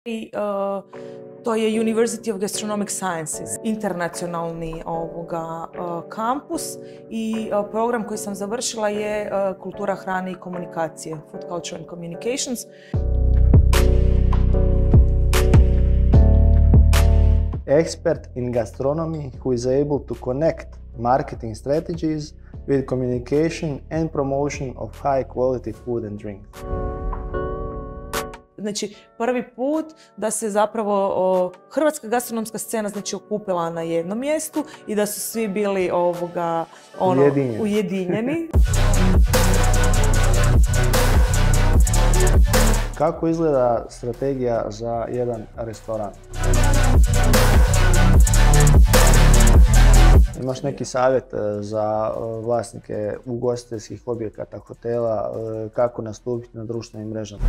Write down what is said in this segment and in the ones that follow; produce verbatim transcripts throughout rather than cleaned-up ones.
I, uh, to je University of Gastronomic Sciences, internacionalni ovoga, uh, kampus i uh, program koji sam završila je uh, kultura hrane i komunikacije, Food Culture and Communications. Expert in gastronomy who is able to connect marketing strategies with communication and promotion of high quality food and drink. Znači, prvi put da se zapravo o, hrvatska gastronomska scena znači okupila na jednom mjestu i da su svi bili ovoga, ono, ujedinjeni. ujedinjeni. Kako izgleda strategija za jedan restoran? Imaš neki savjet za vlasnike ugostiteljskih objekata, hotela, kako nastupiti na društvenim mrežama?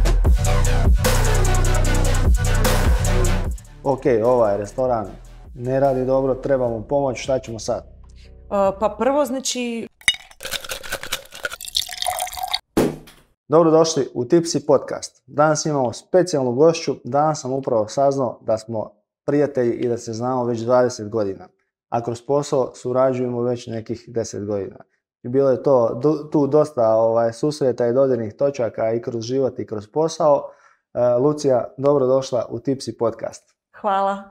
Ok, ovaj restoran ne radi dobro, trebamo pomoć, šta ćemo sad? Uh, pa prvo, znači... Dobrodošli u Tipsy podcast. Danas imamo specijalnu gošću. Danas sam upravo saznao da smo prijatelji i da se znamo već dvadeset godina. A kroz posao surađujemo već nekih deset godina. I bilo je to tu dosta ovaj, susreta i dodirnih točaka i kroz život i kroz posao. Uh, Lucija, dobrodošla u Tipsy podcast. Hvala.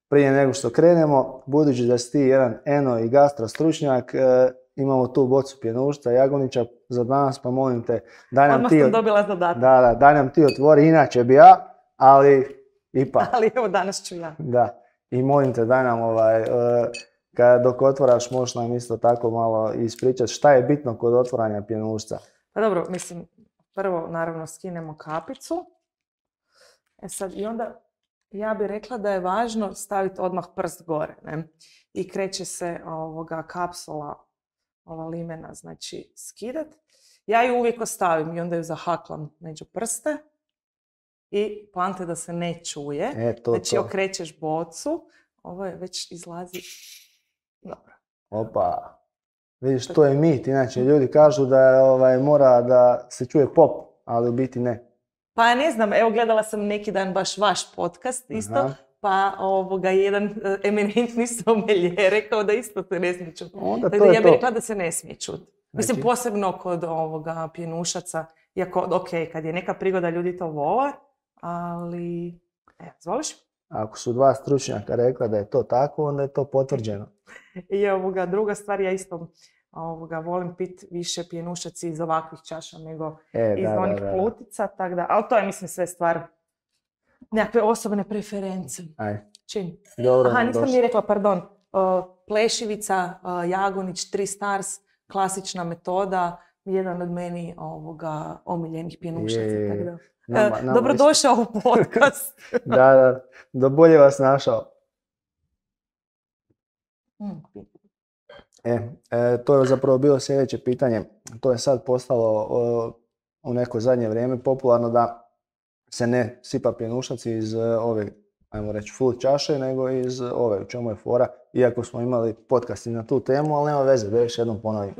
Prije nego što krenemo, budući da si ti jedan eno i gastro stručnjak, uh, imamo tu bocu pjenušca Jagonića za danas, pa molim te, daj nam Odmah ti... sam dobila zadatak. Da, da, daj nam ti otvori, inače bi ja, ali ipak. Ali evo danas ću ja. Da, i molim te, daj nam ovaj, uh, kad dok otvaraš, možeš nam isto tako malo ispričati šta je bitno kod otvaranja pjenušca. Pa dobro, mislim, prvo naravno skinemo kapicu. E sad, i onda ja bih rekla da je važno staviti odmah prst gore, ne? I kreće se ovoga kapsula, ova limena, znači skidat. Ja ju uvijek ostavim i onda ju zahaklam među prste i plante da se ne čuje. E, to, znači to. okrećeš bocu, ovo je već izlazi, dobro. Opa, vidiš, to je mit, inače ljudi kažu da je, ovaj, mora da se čuje pop, ali u biti ne. Pa ne znam, evo gledala sam neki dan baš vaš podcast isto. Aha. Pa ovoga, jedan uh, eminentni sommelier rekao da isto se ne smije čuti. Tako da ja bih rekla da se ne smije čuti. Mislim, znači, posebno kod ovoga pjenušaca, iako, ok, kad je neka prigoda ljudi to vole, ali, evo, zvoliš? Ako su dva stručnjaka rekla da je to tako, onda je to potvrđeno. I ovoga, druga stvar, ja isto ovoga, volim pit više pjenušaci iz ovakvih čaša nego e, iz da, onih da, da. plutica, tako da, ali to je, mislim, sve stvar nekakve osobne preference. Aj. Čim? Dobro, Aha, nisam došli. mi rekla, pardon. Uh, plešivica, uh, Jagonić, tri stars, klasična metoda, jedan od meni ovoga omiljenih pjenušaca. Je, tako da. nama, nama Dobrodošao u podcast. da, da, da bolje vas našao. Mm. E, e, to je zapravo bilo sljedeće pitanje. To je sad postalo o, u neko zadnje vrijeme popularno da se ne sipa pjenušac iz ove, ajmo reći, full čaše, nego iz ove, u čemu je fora. Iako smo imali podcast i na tu temu, ali nema veze, da još jednom ponovim.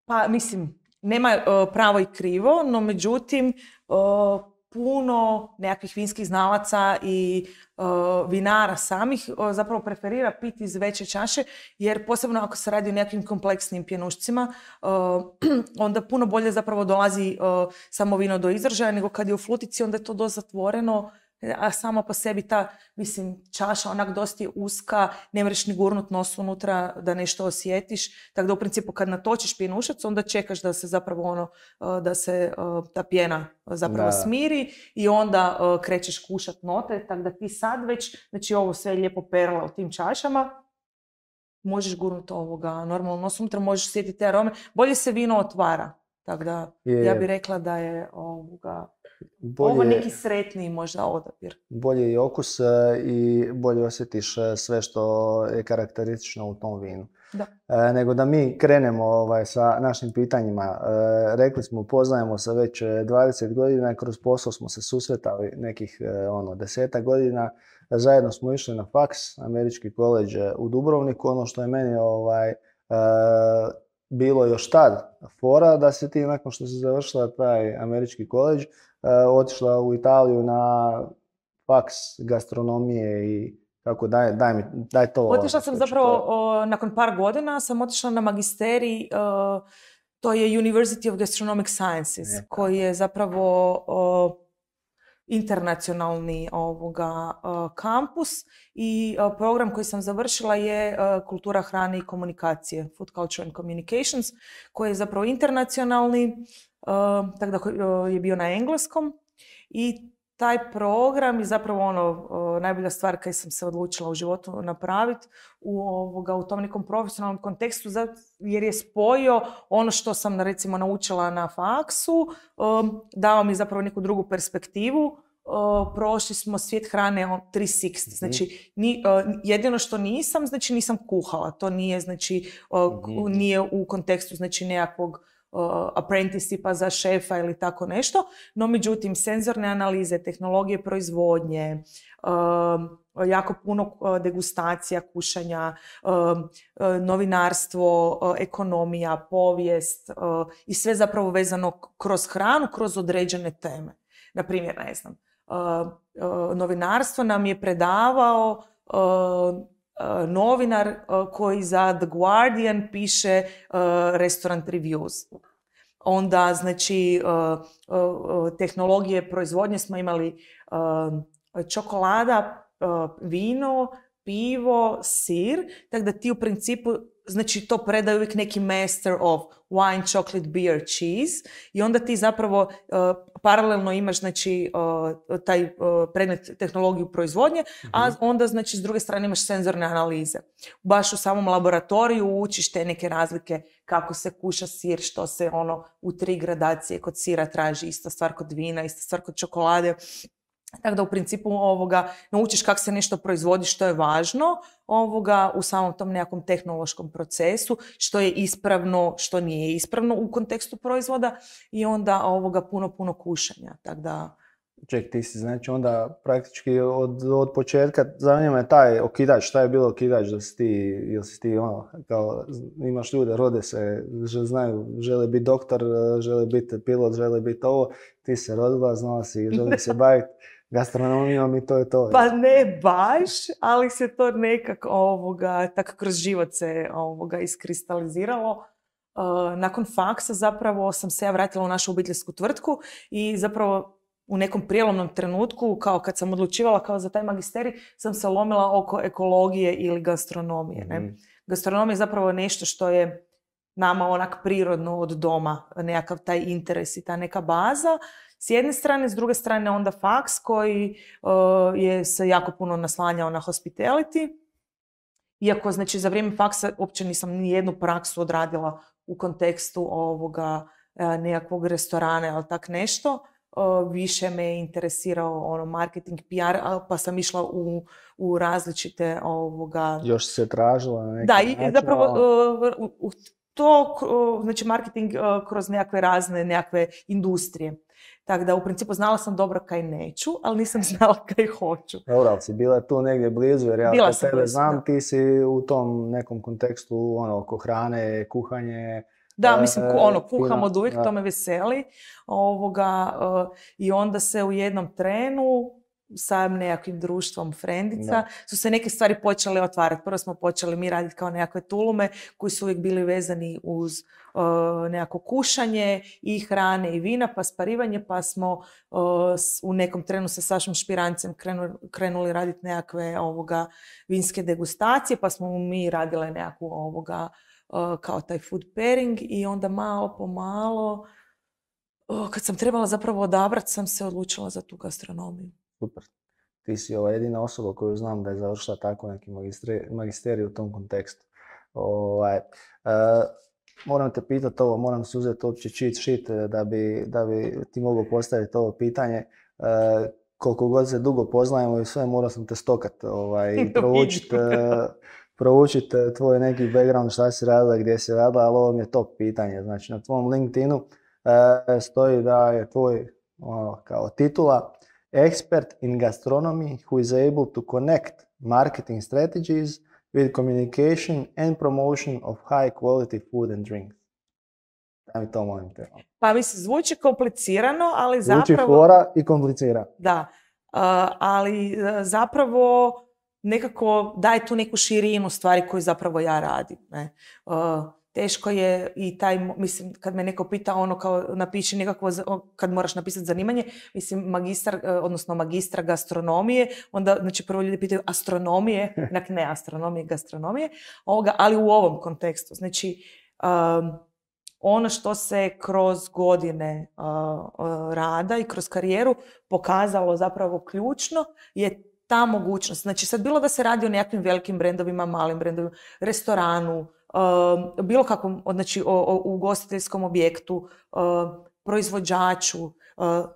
Pa, mislim, nema uh, pravo i krivo, no međutim, uh, puno nekakvih vinskih znalaca i uh, vinara samih uh, zapravo preferira piti iz veće čaše, jer posebno ako se radi o nekakvim kompleksnim pjenušcima, uh, onda puno bolje zapravo dolazi uh, samo vino do izražaja, nego kad je u flutici, onda je to dosta zatvoreno, a sama po sebi ta, mislim, čaša onak dosta je uska, ne možeš ni gurnut nos unutra da nešto osjetiš, tako da u principu kad natočiš pjenušac, onda čekaš da se zapravo ono, da se ta pjena zapravo da. smiri i onda uh, krećeš kušat note, tako da ti sad već, znači ovo sve je lijepo perla u tim čašama, možeš gurnut ovoga normalno nos unutra, možeš osjetiti te arome, bolje se vino otvara, tako da je. Ja bih rekla da je ovoga Bolje, ovo neki sretniji možda odabir. Bolje i okus i bolje osjetiš sve što je karakteristično u tom vinu. Da. E, nego da mi krenemo ovaj, sa našim pitanjima. E, rekli smo, poznajemo se već dvadeset godina, kroz posao smo se susretali nekih ono, desetak godina. Zajedno smo išli na faks, američki koledž u Dubrovniku. Ono što je meni ovaj, e, bilo još tad fora da si ti nakon što si završila taj američki koledž, Uh, otišla u Italiju na faks gastronomije i kako daj, daj, mi, daj to. Otišla sam što zapravo, to... o, nakon par godina sam otišla na magisterij, o, to je University of Gastronomic Sciences, je, koji je zapravo o, internacionalni ovoga, o, kampus i o, program koji sam završila je o, kultura hrane i komunikacije, Food Culture and Communications, koji je zapravo internacionalni, o, tako da o, je bio na engleskom i taj program je zapravo ono, o, najbolja stvar kad sam se odlučila u životu napraviti u, ovoga, u tom nekom profesionalnom kontekstu, jer je spojio ono što sam recimo naučila na faksu, o, dao mi zapravo neku drugu perspektivu. O, prošli smo svijet hrane tri šezdeset. Mm-hmm. Znači, ni, o, jedino što nisam, znači nisam kuhala. To nije, znači, o, mm-hmm. nije u kontekstu znači nekakvog Uh, apprenticeshipa za šefa ili tako nešto, no međutim senzorne analize, tehnologije proizvodnje, uh, jako puno uh, degustacija, kušanja, uh, uh, novinarstvo, uh, ekonomija, povijest uh, i sve zapravo vezano kroz hranu, kroz određene teme. Naprimjer, ne znam, uh, uh, novinarstvo nam je predavao uh, Uh, novinar uh, koji za The Guardian piše uh, restaurant reviews. Onda, znači, uh, uh, tehnologije proizvodnje smo imali uh, čokolada, uh, vino, pivo, sir, tako da ti u principu, znači to predaju uvijek neki master of wine, chocolate, beer, cheese i onda ti zapravo uh, paralelno imaš znači uh, taj uh, predmet tehnologiju proizvodnje, mm-hmm. a onda znači s druge strane imaš senzorne analize. Baš u samom laboratoriju učiš te neke razlike kako se kuša sir, što se ono u tri gradacije kod sira traži, ista stvar kod vina, ista stvar kod čokolade. Tako da u principu ovoga, naučiš kako se nešto proizvodi, što je važno ovoga, u samom tom nekakvom tehnološkom procesu, što je ispravno, što nije ispravno u kontekstu proizvoda i onda ovoga, puno, puno kušanja. Tako da... Ček, ti si znači onda praktički od, od početka, zanima me taj okidač, šta je bilo okidač da si ti, ili si ti ono, kao imaš ljude, rode se, znaju, žele biti doktor, žele biti pilot, žele biti ovo, ti se rodila, znala si, želi se baviti gastronomijom i to je to. Pa ne baš, ali se to nekako ovoga, tako kroz život se ovoga iskristaliziralo. Uh, nakon faksa zapravo sam se ja vratila u našu obiteljsku tvrtku i zapravo u nekom prijelomnom trenutku, kao kad sam odlučivala kao za taj magisterij, sam se lomila oko ekologije ili gastronomije. Ne? Mm. Gastronomija je zapravo nešto što je nama onak prirodno od doma, nekakav taj interes i ta neka baza. S jedne strane, s druge strane onda faks koji uh, je se jako puno naslanjao na hospitality. Iako, znači, za vrijeme faksa uopće nisam ni jednu praksu odradila u kontekstu ovoga uh, nekakvog restorana ili tak nešto. Uh, više me je interesirao ono, marketing, P R, pa sam išla u, u različite ovoga... Još se tražila na neki da, način. Da, i zapravo uh, u, to, uh, znači marketing uh, kroz nekakve razne nekakve industrije. Tako da u principu znala sam dobro kaj neću, ali nisam znala kaj hoću. Dobro, ali si bila tu negdje blizu, jer ja bila kod tebe blizu, znam, da. Ti si u tom nekom kontekstu ono, oko hrane, kuhanje. Da, mislim, ono, kuham fina, od uvijek, da. to me veseli. Ovoga, uh, I onda se u jednom trenu sa nekakvim društvom frendica da. Su se neke stvari počele otvarati. Prvo smo počeli mi raditi kao nekakve tulume koji su uvijek bili vezani uz uh, nekako kušanje i hrane i vina, pa sparivanje, pa smo uh, u nekom trenu sa Sašom Špirancem krenuli, krenuli raditi nekakve ovoga, vinske degustacije, pa smo mi radile nekakvu ovoga, uh, kao taj food pairing i onda malo po malo, uh, kad sam trebala zapravo odabrati, sam se odlučila za tu gastronomiju. Super. Ti si ova jedina osoba koju znam da je završila tako neki magisterij u tom kontekstu. Ovaj, uh, moram te pitati ovo, moram se uzeti uopće cheat sheet da bi, da bi ti mogao postaviti ovo pitanje. Uh, koliko god se dugo poznajemo i sve, morao sam te stokati ovaj, i proučiti uh, proučit tvoj neki background, šta si radila, gdje si radila, ali ovo mi je top pitanje. Znači, na tvom LinkedInu uh, stoji da je tvoj ono, kao titula Expert in gastronomy who is able to connect marketing strategies with communication and promotion of high quality food and drinks. Da mi to molim te. Pa mislim, zvuči komplicirano, ali zvuči zapravo... Zvuči fora i komplicira. Da. ali zapravo nekako daje tu neku širinu stvari koju zapravo ja radim. Ne? Teško je i taj, mislim, kad me neko pita ono kao napiši nekakvo, kad moraš napisati zanimanje, mislim, magistar, odnosno magistra gastronomije, onda, znači, prvo ljudi pitaju astronomije, dakle, ne astronomije, gastronomije, ovoga, ali u ovom kontekstu. Znači, um, ono što se kroz godine uh, uh, rada i kroz karijeru pokazalo zapravo ključno je ta mogućnost. Znači, sad bilo da se radi o nekakvim velikim brendovima, malim brendovima, restoranu, Uh, bilo kakvom, znači o, o ugostiteljskom objektu, uh, proizvođaču. Uh,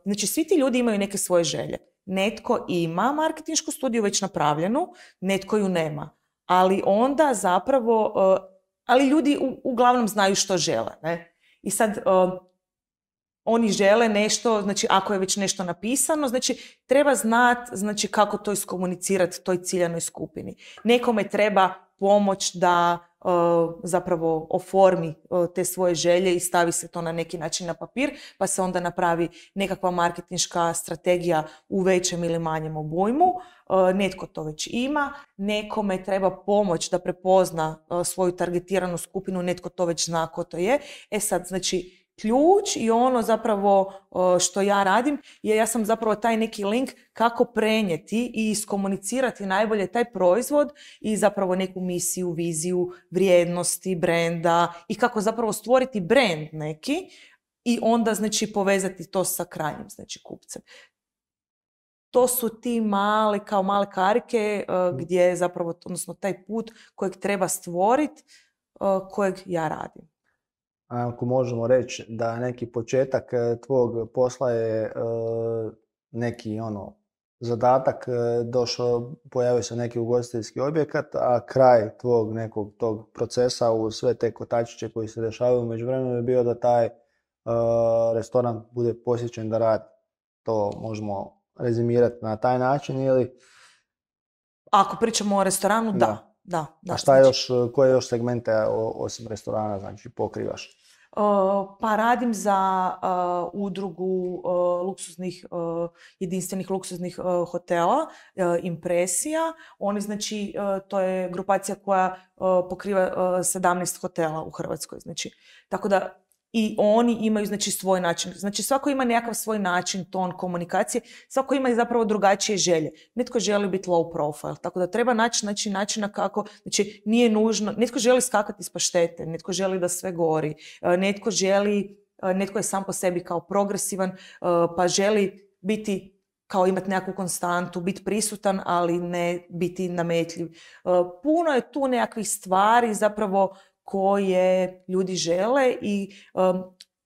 znači svi ti ljudi imaju neke svoje želje. Netko ima marketinšku studiju već napravljenu, netko ju nema. Ali onda zapravo, uh, ali ljudi u, uglavnom znaju što žele. Ne? I sad uh, oni žele nešto, znači ako je već nešto napisano, znači treba znati, znači, kako to iskomunicirati toj ciljanoj skupini. Nekome treba pomoć da uh, zapravo oformi uh, te svoje želje i stavi se to na neki način na papir, pa se onda napravi nekakva marketinška strategija u većem ili manjem obujmu. Uh, netko to već ima, nekome treba pomoć da prepozna uh, svoju targetiranu skupinu, netko to već zna ko to je. E sad, znači, ključ i ono zapravo što ja radim je ja sam zapravo taj neki link kako prenijeti i iskomunicirati najbolje taj proizvod i zapravo neku misiju, viziju, vrijednosti, brenda i kako zapravo stvoriti brand neki i onda znači povezati to sa krajnjim znači kupcem. To su ti male, kao male karike uh, gdje zapravo, odnosno taj put kojeg treba stvoriti, uh, kojeg ja radim. Ako možemo reći da neki početak tvog posla je uh, neki ono zadatak, došao, pojavio se neki ugostiteljski objekat, a kraj tvog nekog tog procesa u sve te kotačiće koji se dešavaju u međuvremenu je bio da taj uh, restoran bude posjećen da radi. To možemo rezimirati na taj način ili... Ako pričamo o restoranu, da. da. Da, da, a šta znači, još, koje još segmente osim restorana znači pokrivaš? Uh, pa radim za uh, udrugu uh, luksuznih, uh, jedinstvenih luksuznih uh, hotela, uh, Impresija. Oni znači, uh, to je grupacija koja uh, pokriva uh, sedamnaest hotela u Hrvatskoj. Znači, tako da i oni imaju znači svoj način. Znači svako ima nekakav svoj način, ton komunikacije. Svako ima i zapravo drugačije želje. Netko želi biti low profile, tako da treba naći znači, načina kako, znači nije nužno, netko želi skakati iz paštete, netko želi da sve gori, netko želi, netko je sam po sebi kao progresivan, pa želi biti kao imati nekakvu konstantu, biti prisutan, ali ne biti nametljiv. Puno je tu nekakvih stvari zapravo koje ljudi žele i um,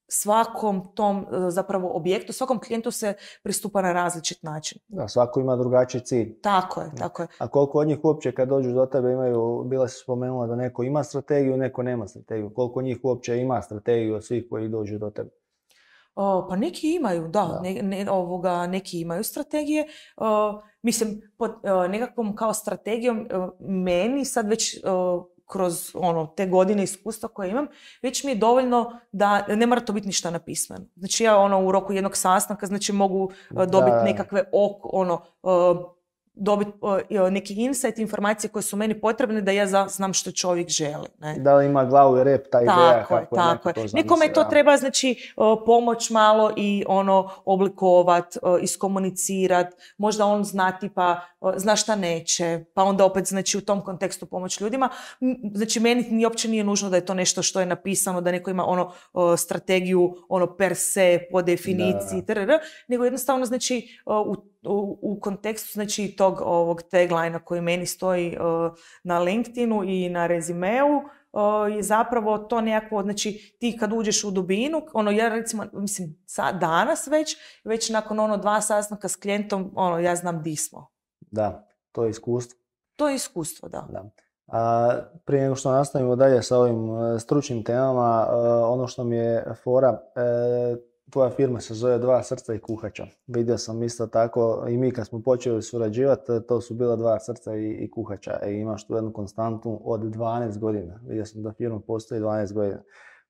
svakom tom uh, zapravo objektu, svakom klijentu se pristupa na različit način. Da, svako ima drugačiji cilj. Tako je, tako je. A koliko od njih uopće kad dođu do tebe imaju, bila si spomenula da neko ima strategiju, neko nema strategiju. Koliko njih uopće ima strategiju od svih koji dođu do tebe? O, pa neki imaju, da, da. Ne, ne, ovoga, neki imaju strategije. O, mislim, pod o, nekakvom kao strategijom o, meni sad već... O, kroz ono, te godine iskustva koje imam, već mi je dovoljno da ne mora to biti ništa napisano. Znači ja ono, u roku jednog sastanka znači, mogu uh, dobiti nekakve ok, ono, uh, dobiti uh, neki insight, informacije koje su meni potrebne da ja za, znam što čovjek želi. Ne? Da li ima glavu i rep ta ideja tako kako je, tako je. To nekome to treba znači uh, pomoć malo i ono oblikovat, uh, iskomunicirat, možda on zna tipa, uh, zna šta neće, pa onda opet znači u tom kontekstu pomoć ljudima. Znači meni ni uopće nije nužno da je to nešto što je napisano, da neko ima ono uh, strategiju ono per se, po definiciji, da, da. Trr, nego jednostavno znači uh, u U, u kontekstu znači tog ovog tagline-a koji meni stoji uh, na LinkedInu i na rezimeu uh, je zapravo to nekako, znači ti kad uđeš u dubinu, ono ja recimo, mislim sad, danas već, već nakon ono dva sastanka s klijentom, ono ja znam di smo. Da, to je iskustvo. To je iskustvo, da. da. A, prije nego što nastavimo dalje sa ovim uh, stručnim temama, uh, ono što mi je fora, uh, tvoja firma se zove Dva srca i kuhača. Vidio sam isto tako i mi kad smo počeli surađivati, to su bila Dva srca i, i kuhača. E, imaš tu jednu konstantu od dvanaest godina. Vidio sam da firma postoji dvanaest godina.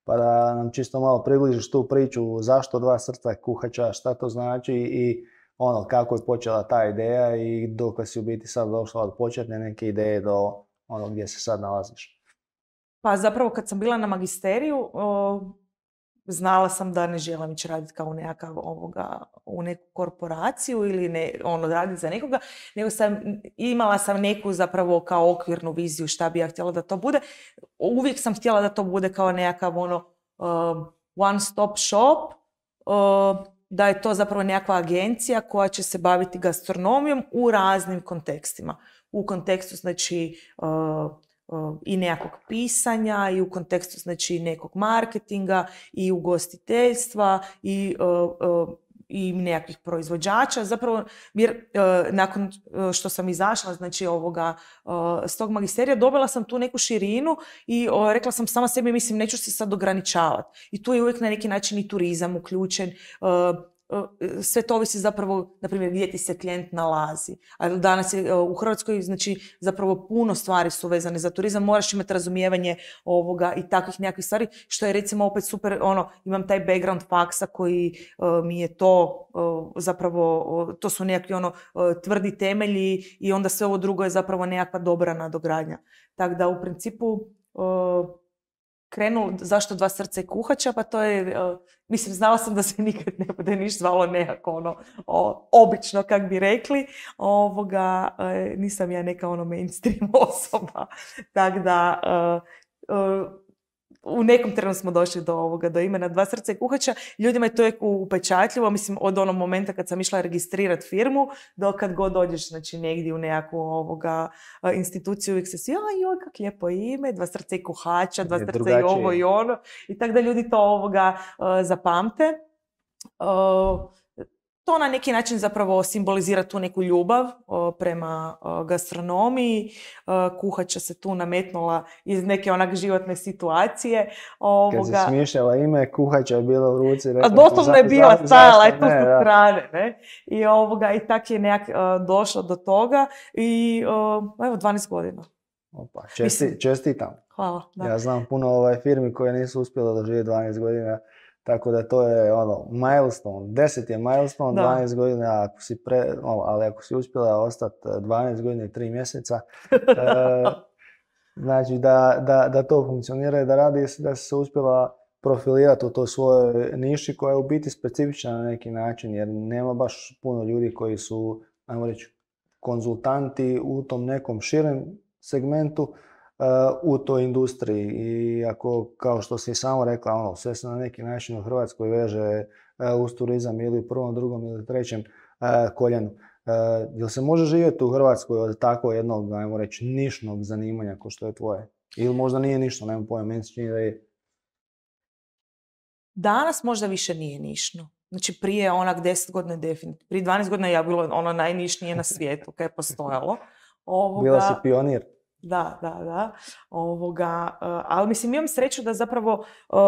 Pa da nam čisto malo približiš tu priču zašto Dva srca i kuhača, šta to znači i ono, kako je počela ta ideja i dok si u biti sad došla od početne neke ideje do ono gdje se sad nalaziš? Pa zapravo kad sam bila na magisteriju, o, znala sam da ne želim ići raditi kao u nekakav ovoga, u neku korporaciju ili ne, ono, raditi za nekoga, nego sam, imala sam neku zapravo kao okvirnu viziju šta bi ja htjela da to bude. Uvijek sam htjela da to bude kao nekakav ono uh, one stop shop, uh, da je to zapravo nekakva agencija koja će se baviti gastronomijom u raznim kontekstima. U kontekstu, znači, uh, uh, i nekakvog pisanja, i u kontekstu, znači, nekog marketinga, i ugostiteljstva, i uh, uh, i nekakvih proizvođača. Zapravo, jer uh, nakon što sam izašla, znači, ovoga, uh, s tog magisterija, dobila sam tu neku širinu i uh, rekla sam sama sebi, mislim, neću se sad ograničavati. I tu je uvijek na neki način i turizam uključen. Uh, Sve to ovisi zapravo, na primjer, gdje ti se klijent nalazi. A danas je u Hrvatskoj, znači, zapravo puno stvari su vezane za turizam, moraš imati razumijevanje ovoga i takvih nekakvih stvari, što je recimo opet super, ono, imam taj background faksa koji uh, mi je to uh, zapravo, uh, to su nekakvi ono uh, tvrdi temelji i onda sve ovo drugo je zapravo nekakva dobra nadogradnja. Tako da u principu uh, krenulo, zašto dva srca i kuhača, pa to je, uh, mislim, znala sam da se nikad ne bude niš zvalo nekako ono, o, obično, kak bi rekli, ovoga, uh, nisam ja neka ono mainstream osoba, tako da uh, uh, u nekom trenu smo došli do ovoga, do imena Dva srca i kuhača. Ljudima je to je upečatljivo, mislim, od onog momenta kad sam išla registrirati firmu, do kad god dođeš, znači, negdje u nekakvu ovoga instituciju, uvijek se svi, a joj, kak lijepo ime, Dva srca i kuhača, Dva srca i ovo i ono. I tako da ljudi to ovoga uh, zapamte. Uh, To na neki način zapravo simbolizira tu neku ljubav o, prema o, gastronomiji. O, kuhača se tu nametnula iz neke onak životne situacije. Ovoga... Kad si smišljala ime, kuhača je bila u ruci. Rekla, doslovno je bila stajala, je tu sa strane. Ne? I, ovoga, i tak je nekak uh, došlo do toga. I uh, evo, dvanaest godina. Opa, česti, Mislim, čestitam. Hvala. Da. Ja znam puno ovaj firmi koje nisu uspjele doživjeti dvanaest godina. Tako da to je ono, milestone, deset je milestone, da. dvanaest godina, ako si pre, ono, ali ako si uspjela ostati dvanaest godina i tri mjeseca, e, znači da, da, da to funkcionira i da radi, da si se uspjela profilirati u toj svojoj niši koja je u biti specifična na neki način, jer nema baš puno ljudi koji su, ajmo reći, konzultanti u tom nekom širem segmentu, Uh, u toj industriji. I ako, kao što si samo rekla, ono, sve se na neki način u Hrvatskoj veže uh, uz turizam ili u prvom, drugom ili trećem uh, koljenu. Uh, jel se može živjeti u Hrvatskoj od tako jednog, ajmo reći, nišnog zanimanja kao što je tvoje? Ili možda nije nišno, nemam pojma, meni se čini da je. Danas možda više nije nišno. Znači, prije onak deset godina definitivno. Prije dvanaest godina ja bilo ono najnišnije na svijetu kad je postojalo. Ovoga... Bila si pionir. Da, da, da. Ovoga, uh, ali mislim, imam sreću da zapravo uh,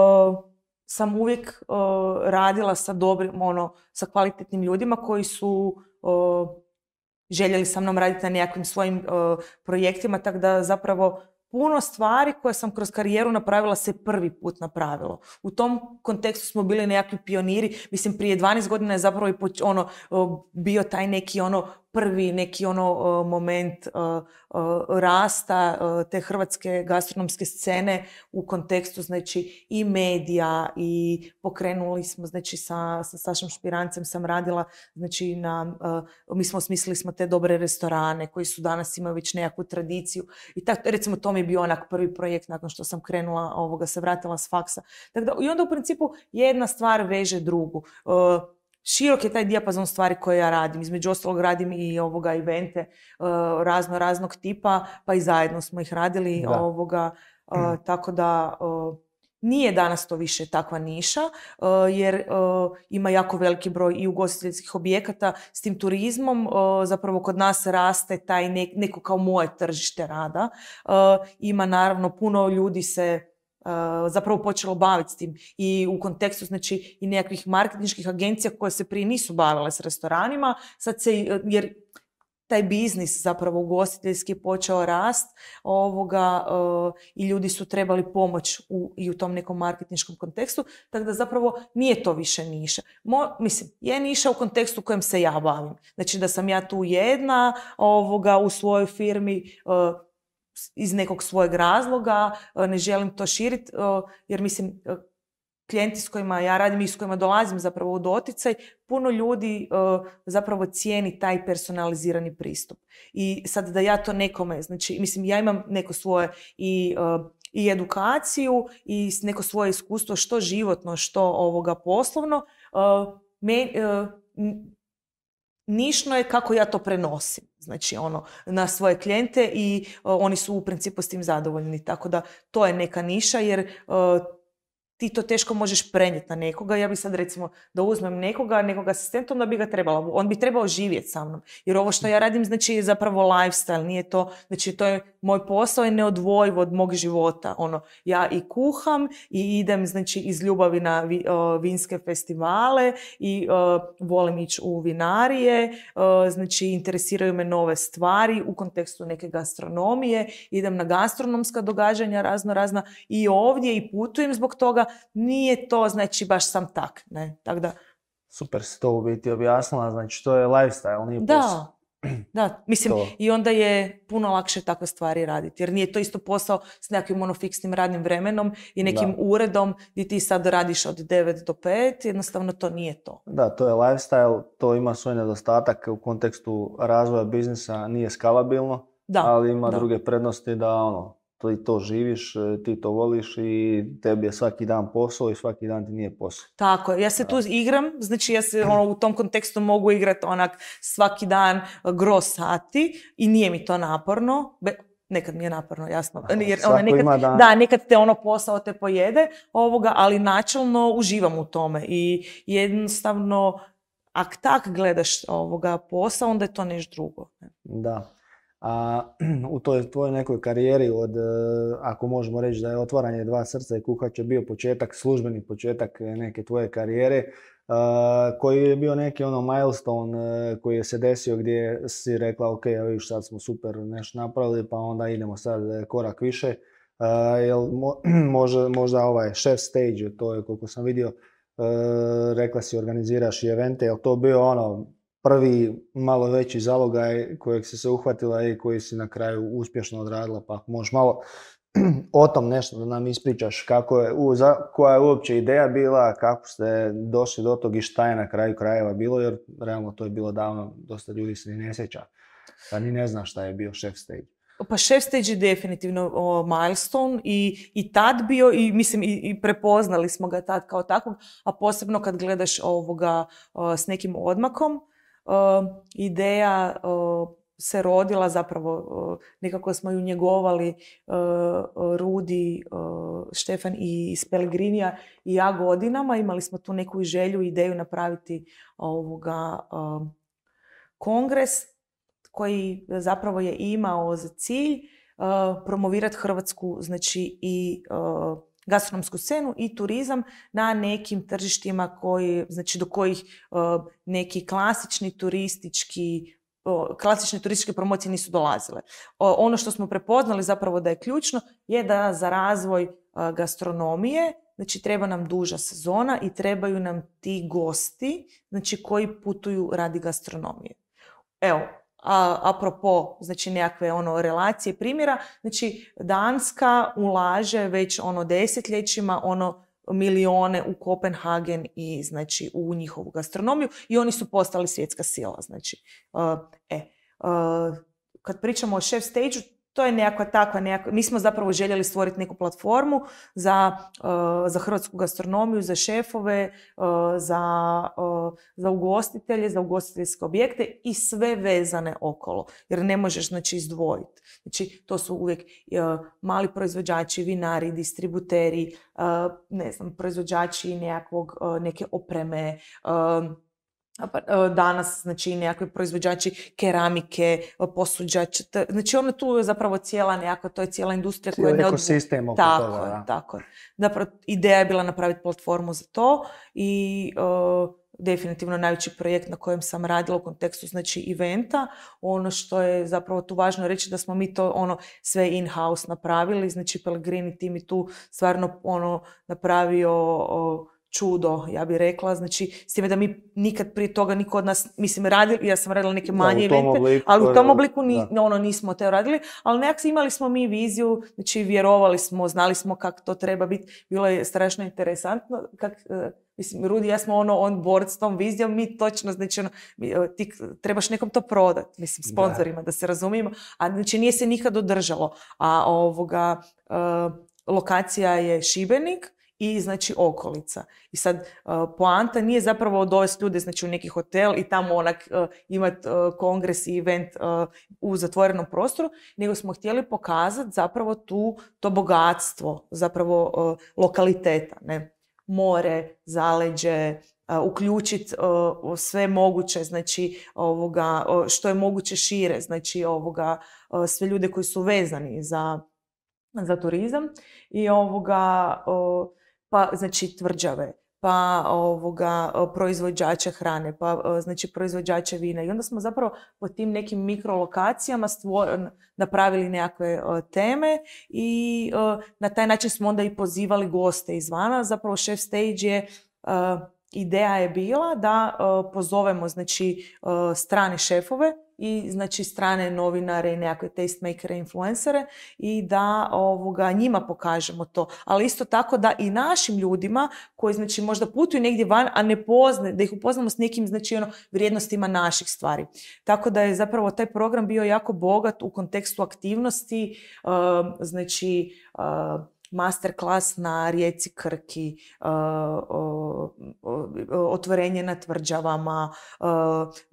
sam uvijek uh, radila sa dobrim, ono, sa kvalitetnim ljudima koji su uh, željeli sa mnom raditi na nekakvim svojim uh, projektima, tako da zapravo puno stvari koje sam kroz karijeru napravila se prvi put napravilo. U tom kontekstu smo bili nekakvi pioniri. Mislim, prije dvanaest godina je zapravo i ono, bio taj neki ono prvi neki ono uh, moment uh, uh, rasta uh, te hrvatske gastronomske scene u kontekstu, znači, i medija, i pokrenuli smo, znači, sa, sa Sašom Špirancem sam radila, znači, na, uh, mi smo osmislili smo te dobre restorane koji su danas imaju već nekakvu tradiciju i tako, recimo, to mi je bio onak prvi projekt nakon što sam krenula, ovoga, se vratila s faksa. Tako da, i onda u principu jedna stvar veže drugu. Uh, Širok je taj dijapazon stvari koje ja radim. Između ostalog radim i ovoga evente uh, razno raznog tipa, pa i zajedno smo ih radili. Ovoga, uh, mm. Tako da uh, nije danas to više takva niša, uh, jer uh, ima jako veliki broj i ugostiteljskih objekata. S tim turizmom uh, zapravo kod nas raste taj ne, neko kao moje tržište rada. Uh, ima naravno puno ljudi se Uh, zapravo počelo baviti s tim i u kontekstu, znači, i nekakvih marketinških agencija koje se prije nisu bavile s restoranima, sad se, jer taj biznis zapravo ugostiteljski je počeo rast ovoga, uh, i ljudi su trebali pomoć u, i u tom nekom marketinškom kontekstu, tako da zapravo nije to više niša. Mo, mislim, je niša u kontekstu u kojem se ja bavim. Znači da sam ja tu jedna ovoga, u svojoj firmi uh, iz nekog svojeg razloga, uh, ne želim to širiti, uh, jer mislim, uh, klijenti s kojima ja radim i s kojima dolazim zapravo u doticaj, puno ljudi uh, zapravo cijeni taj personalizirani pristup. I sad da ja to nekome, znači, mislim, ja imam neko svoje i, uh, i edukaciju i neko svoje iskustvo, što životno, što ovoga poslovno, uh, me, uh, nišno je kako ja to prenosim, znači ono, na svoje klijente i uh, oni su u principu s tim zadovoljni. Tako da to je neka niša jer uh, ti to teško možeš prenijeti na nekoga. Ja bi sad recimo da uzmem nekoga, nekog asistenta, onda bi ga trebala, on bi trebao živjeti sa mnom. Jer ovo što ja radim znači je zapravo lifestyle, nije to, znači to je moj posao je neodvojiv od mog života. Ono, ja i kuham i idem znači iz ljubavi na vi, uh, vinske festivale i uh, volim ići u vinarije, uh, znači interesiraju me nove stvari u kontekstu neke gastronomije, idem na gastronomska događanja razno razna i ovdje i putujem zbog toga. Nije to, znači, baš sam tak, ne, tako da... Super si to u biti objasnila, znači to je lifestyle, nije posao. Da, mislim, to. I onda je puno lakše takve stvari raditi, jer nije to isto posao s nekakvim ono fiksnim radnim vremenom i nekim da. uredom gdje ti sad radiš od devet do pet, jednostavno to nije to. Da, to je lifestyle, to ima svoj nedostatak u kontekstu razvoja biznisa, nije skalabilno, da. ali ima da. druge prednosti da ono, ti to živiš, ti to voliš i tebi je svaki dan posao i svaki dan ti nije posao. Tako je, ja se tu igram, znači ja se ono, u tom kontekstu mogu igrati onak svaki dan gro sati i nije mi to naporno. Be, nekad mi je naporno, jasno. Jer, ono, nekad, da... da, nekad te ono posao te pojede, ovoga, ali načelno uživam u tome i jednostavno ak tak gledaš ovoga posao, onda je to nešto drugo. Da. A u toj tvojoj nekoj karijeri od, ako možemo reći da je otvaranje dva srca i kuhač je bio početak, službeni početak neke tvoje karijere, koji je bio neki ono milestone koji je se desio gdje si rekla ok, ja vidiš sad smo super nešto napravili pa onda idemo sad korak više. Jel možda, možda ovaj chef stage, to je koliko sam vidio, rekla si organiziraš i evente, jel to bio ono prvi malo veći zalogaj kojeg si se uhvatila i koji si na kraju uspješno odradila, pa možeš malo o tom nešto da nam ispričaš kako je, u, za, koja je uopće ideja bila, kako ste došli do tog i šta je na kraju krajeva bilo, jer realno to je bilo davno, dosta ljudi se ni ne sjeća, pa ni ne zna šta je bio chef stage. Pa chef stage je definitivno o, milestone i, i tad bio i mislim i, i prepoznali smo ga tad kao takvog, a posebno kad gledaš ovoga o, s nekim odmakom. Uh, ideja uh, se rodila zapravo, uh, nekako smo ju njegovali uh, Rudi, uh, Štefan i iz Pelegrinija i ja godinama. Imali smo tu neku želju, ideju napraviti ovoga, uh, kongres koji zapravo je imao za cilj uh, promovirati Hrvatsku, znači i uh, gastronomsku scenu i turizam na nekim tržištima koji, znači do kojih uh, neki klasični turistički uh, klasične turističke promocije nisu dolazile. Uh, ono što smo prepoznali zapravo da je ključno je da za razvoj uh, gastronomije, znači treba nam duža sezona i trebaju nam ti gosti, znači koji putuju radi gastronomije. Evo, A, apropo, znači nekakve ono relacije primjera, znači Danska ulaže već ono desetljećima ono milione u Kopenhagen i znači u njihovu gastronomiju i oni su postali svjetska sila. Znači, uh, e, uh, kad pričamo o chef stage-u, to je nekakva takva, nekakva, mi smo zapravo željeli stvoriti neku platformu za, uh, za hrvatsku gastronomiju, za šefove, uh, za, uh, za ugostitelje, za ugostiteljske objekte i sve vezane okolo. Jer ne možeš znači izdvojiti. Znači to su uvijek uh, mali proizvođači, vinari, distributeri, uh, ne znam, proizvođači nekakvog, uh, neke opreme, uh, danas, znači, nekakvi proizvođači keramike, posuđači, znači ono tu je zapravo cijela nekakva, to je cijela industrija koja je ekosistem oko tako toga. Je, tako je. Zapravo, ideja je bila napraviti platformu za to i uh, definitivno najveći projekt na kojem sam radila u kontekstu znači eventa. Ono što je zapravo tu važno reći da smo mi to ono sve in-house napravili, znači Pellegrini tim je tu stvarno ono napravio o, čudo, ja bih rekla, znači s time da mi nikad prije toga niko od nas, mislim radili, ja sam radila neke manje da, evente, obliku, ali u tom obliku ni, da. ono nismo te radili, ali nekako imali smo mi viziju, znači vjerovali smo, znali smo kako to treba biti, bilo je strašno interesantno, kak, mislim, Rudi i ja smo ono on board s tom vizijom, mi točno, znači ono, ti trebaš nekom to prodati, mislim, sponzorima, da, da se razumijemo, a znači nije se nikad održalo, a ovoga, uh, lokacija je Šibenik, i znači okolica. I sad uh, poanta nije zapravo dovesti ljude znači u neki hotel i tamo onak uh, imati uh, kongres i event uh, u zatvorenom prostoru, nego smo htjeli pokazati zapravo tu to bogatstvo zapravo uh, lokaliteta, ne? More, zaleđe, uh, uključiti uh, sve moguće, znači ovoga, uh, što je moguće šire, znači ovoga, uh, sve ljude koji su vezani za, za turizam i ovoga uh, pa znači tvrđave, pa ovoga, proizvođača hrane, pa znači proizvođača vina. I onda smo zapravo po tim nekim mikrolokacijama stvor, napravili nekakve uh, teme i uh, na taj način smo onda i pozivali goste izvana. Zapravo Chef Stage je, uh, ideja je bila da uh, pozovemo znači uh, strane šefove i znači strane novinare i nekakve tastemakere, influencere i da ovoga, njima pokažemo to. Ali isto tako da i našim ljudima koji znači možda putuju negdje van, a ne poznaju, da ih upoznamo s nekim znači ono vrijednostima naših stvari. Tako da je zapravo taj program bio jako bogat u kontekstu aktivnosti, uh, znači uh, masterclass na rijeci Krki, uh, uh, uh, otvorenje na tvrđavama, uh,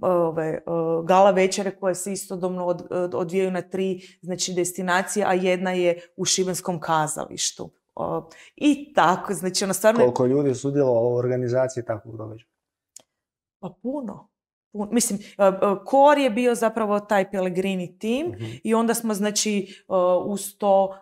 ove, uh, gala večere koje se istodobno od, od, odvijaju na tri znači, destinacije, a jedna je u Šibenskom kazalištu. Uh, I tako, znači ono stvarno... Koliko ljudi je sudjelovalo u organizaciji takvog događaja? Pa puno. Mislim, core je bio zapravo taj Pellegrini tim uh-huh. i onda smo, znači, uz to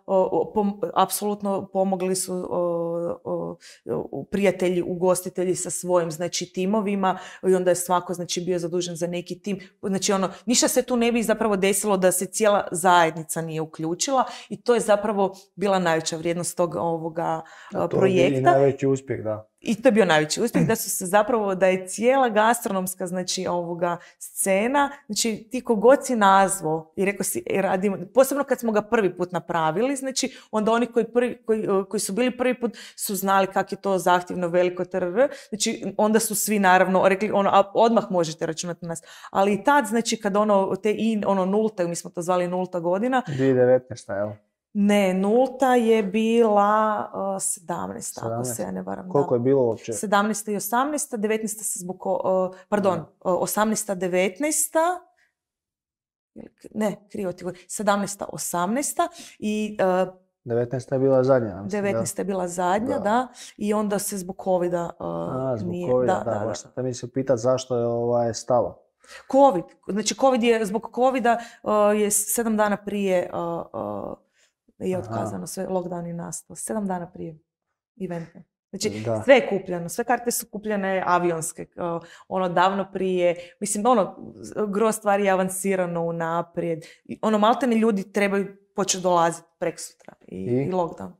pom- apsolutno pomogli su uh, uh, prijatelji, ugostitelji sa svojim, znači, timovima i onda je svako, znači, bio zadužen za neki tim. Znači, ono, ništa se tu ne bi zapravo desilo da se cijela zajednica nije uključila i to je zapravo bila najveća vrijednost tog ovoga uh, to projekta. I najveći uspjeh, da. I to je bio najveći uspjeh, da su se zapravo, da je cijela gastronomska, znači, ovoga scena, znači, ti kogod si nazvao i rekao si, radimo, posebno kad smo ga prvi put napravili, znači, onda oni koji, prvi, koji, koji su bili prvi put su znali kako je to zahtjevno, veliko, trr, znači, onda su svi, naravno, rekli, ono, a odmah možete računati na nas. Ali i tad, znači, kad ono, te i, ono, nulta, mi smo to zvali nulta godina. dvije tisuće devetnaesta, jel? Ne, nulta je bila uh, sedamnaesta, ako se ja ne varam. Koliko da. je bilo uopće? sedamnaesta i osamnaesta, devetnaesta se zbog, uh, pardon, uh, osamnaesta, devetnaesta, ne, krivo ti govorim, sedamnaesta, osamnaesta i... Uh, devetnaesta je bila zadnja. Mislim, devetnaesta je bila zadnja, da. da, i onda se zbog covida uh, A, zbog nije... covida, da, da, da, baš sam te mislio pitati zašto je ovaj stalo. Covid, znači Covid je, zbog covida uh, je sedam dana prije... Uh, uh, je otkazano, Aha. sve, lockdown je nastao. Sedam dana prije eventa. Znači, da. Sve je kupljeno, sve karte su kupljene avionske, uh, ono davno prije, mislim, ono, gro stvari je avansirano unaprijed. Ono, maltene ljudi trebaju početi dolaziti preksutra i, I? i lockdown.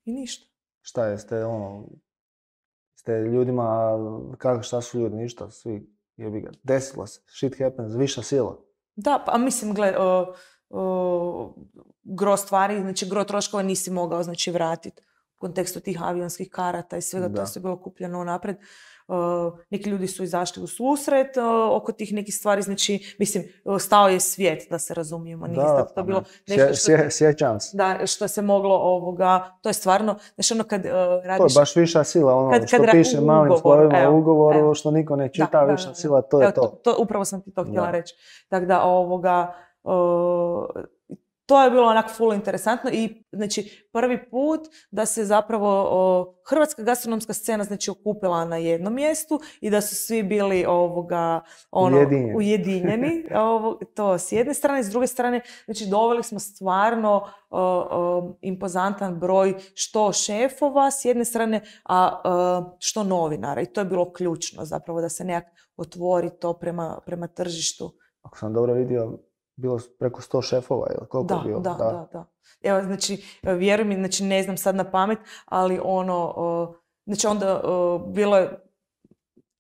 I ništa. Šta je, ste, ono, ste ljudima, kako, šta su ljudi, ništa, svi, jebi ga, desilo se, shit happens, viša sila. Da, pa mislim, gle, uh, Uh, gro stvari, znači gro troškova nisi mogao znači vratiti u kontekstu tih avionskih karata i svega, da. To je bilo kupljeno napred. Uh, neki ljudi su izašli u susret uh, oko tih nekih stvari, znači, mislim, stao je svijet, da se razumijemo. Nije da, to bilo nešto što, sje, sjećam se. Da, što se moglo ovoga, to je stvarno, znači ono kad uh, radiš... To je baš viša sila, ono kad, što kad piše u malim slovima u ugovoru, evo, što niko ne čita, da, viša da, sila, to je evo, to. to. To upravo sam ti to htjela da. reći. Tako da, ovoga, Uh, to je bilo onak full interesantno i znači prvi put da se zapravo o, hrvatska gastronomska scena znači okupila na jednom mjestu i da su svi bili ovoga ono Ujedinjeni. ujedinjeni ovo, to s jedne strane, s druge strane znači doveli smo stvarno o, o, impozantan broj što šefova s jedne strane, a o, što novinara i to je bilo ključno zapravo da se nekak otvori to prema, prema tržištu. Ako sam dobro vidio, bilo preko sto šefova, ili koliko Da, je bilo? da, da, da. Evo, znači, vjeruj mi, znači, ne znam sad na pamet, ali ono, uh, znači onda uh, bilo je,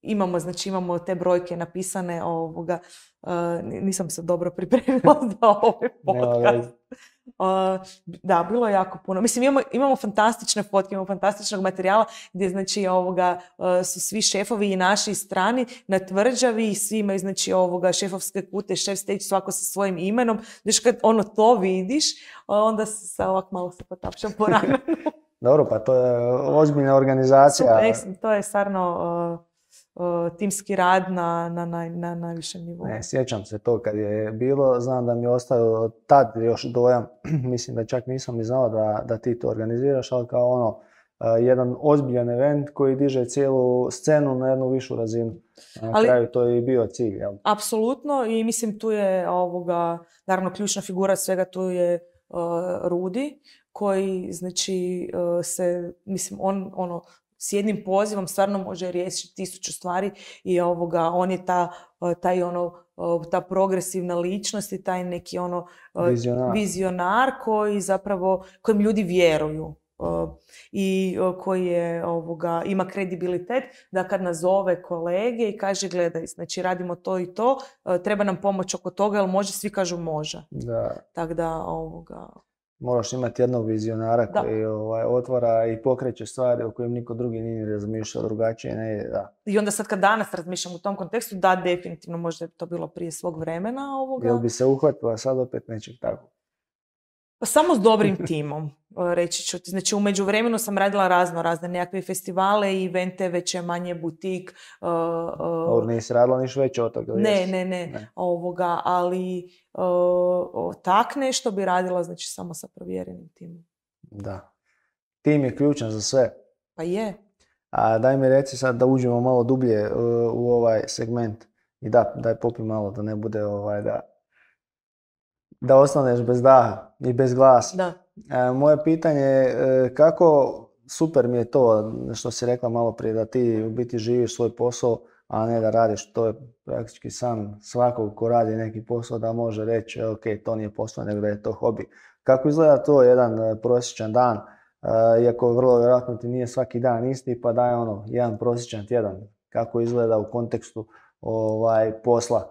imamo, znači, imamo te brojke napisane, ovoga, uh, nisam se dobro pripremila za ovaj podcast. Uh, da, bilo je jako puno. Mislim, imamo, imamo fantastične fotke, imamo fantastičnog materijala gdje znači ovoga uh, su svi šefovi i naši i strani na tvrđavi i svi imaju znači ovoga šefovske kute, šef stage svako sa svojim imenom. Znači kad ono to vidiš, onda se ovak malo se potapšam po ramenu. Dobro, pa to je ozbiljna organizacija. Super, to je stvarno uh, Uh, timski rad na, na, na, na najvišem nivou. Ne, sjećam se to kad je bilo, znam da mi je ostao tad još dojam, mislim da čak nisam ni znao da, da ti to organiziraš, ali kao ono, uh, jedan ozbiljan event koji diže cijelu scenu na jednu višu razinu. Na ali, kraju to je i bio cilj, jel? Apsolutno i mislim tu je ovoga, naravno ključna figura svega tu je uh, Rudi, koji znači uh, se, mislim, on ono, s jednim pozivom stvarno može riješiti tisuću stvari i ovoga, on je ta, taj ono, ta progresivna ličnost i taj neki ono vizionar, vizionar koji zapravo, kojem ljudi vjeruju i koji je, ovoga, ima kredibilitet da kad nazove kolege i kaže gledaj, znači radimo to i to, treba nam pomoć oko toga, jer može, svi kažu može. Da. Tako da, ovoga... Moraš imati jednog vizionara da. koji ovaj, otvara i pokreće stvari o kojim niko drugi nije razmišljao drugačije. Ne, da. I onda sad kad danas razmišljam u tom kontekstu, da, definitivno možda je to bilo prije svog vremena. Ovoga. Jel bi se uhvatila sad opet nečeg tako? Pa samo s dobrim timom, reći ću ti. Znači, u međuvremenu sam radila razno razne nekakve festivale i evente, veće, manje, butik. Uh, uh, Ovo nisi radila niš veće od toga? Ne, ne, ne, ne. Ovoga, ali uh, tak nešto bi radila, znači, samo sa provjerenim timom. Da. Tim je ključan za sve. Pa je. A daj mi reci sad da uđemo malo dublje uh, u ovaj segment. I da, daj popi malo da ne bude ovaj da... da ostaneš bez daha i bez glasa. Da. E, moje pitanje je e, kako, super mi je to što si rekla malo prije, da ti u biti živiš svoj posao, a ne da radiš, to je praktički san svakog ko radi neki posao da može reći ok, to nije posao, nego da je to hobi. Kako izgleda to jedan prosječan dan, e, iako vrlo vjerojatno ti nije svaki dan isti, pa daj ono, jedan prosječan tjedan, kako izgleda u kontekstu ovaj, posla?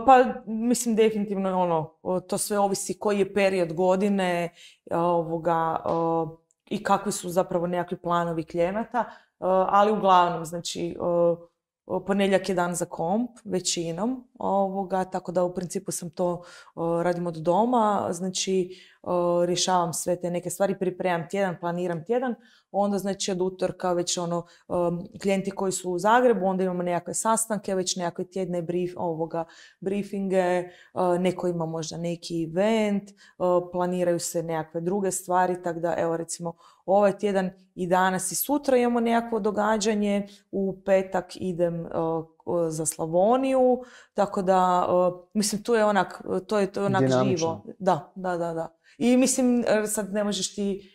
Pa, mislim, definitivno ono, to sve ovisi koji je period godine ovoga, i kakvi su zapravo nekakvi planovi klijenata, ali uglavnom, znači, ponedjeljak je dan za komp, većinom, ovoga, tako da u principu sam to radim od doma, znači rješavam sve te neke stvari, pripremam tjedan, planiram tjedan, onda znači od utorka već ono klijenti koji su u Zagrebu, onda imamo nekakve sastanke, već nekakve tjedne brief, ovoga, briefinge, neko ima možda neki event, planiraju se nekakve druge stvari, tako da evo recimo ovaj tjedan i danas i sutra imamo nekakvo događanje, u petak idem za Slavoniju, tako da mislim tu je onak, to je, to je onak dinamično. Živo. Da, da, da, da. I mislim sad ne možeš ti,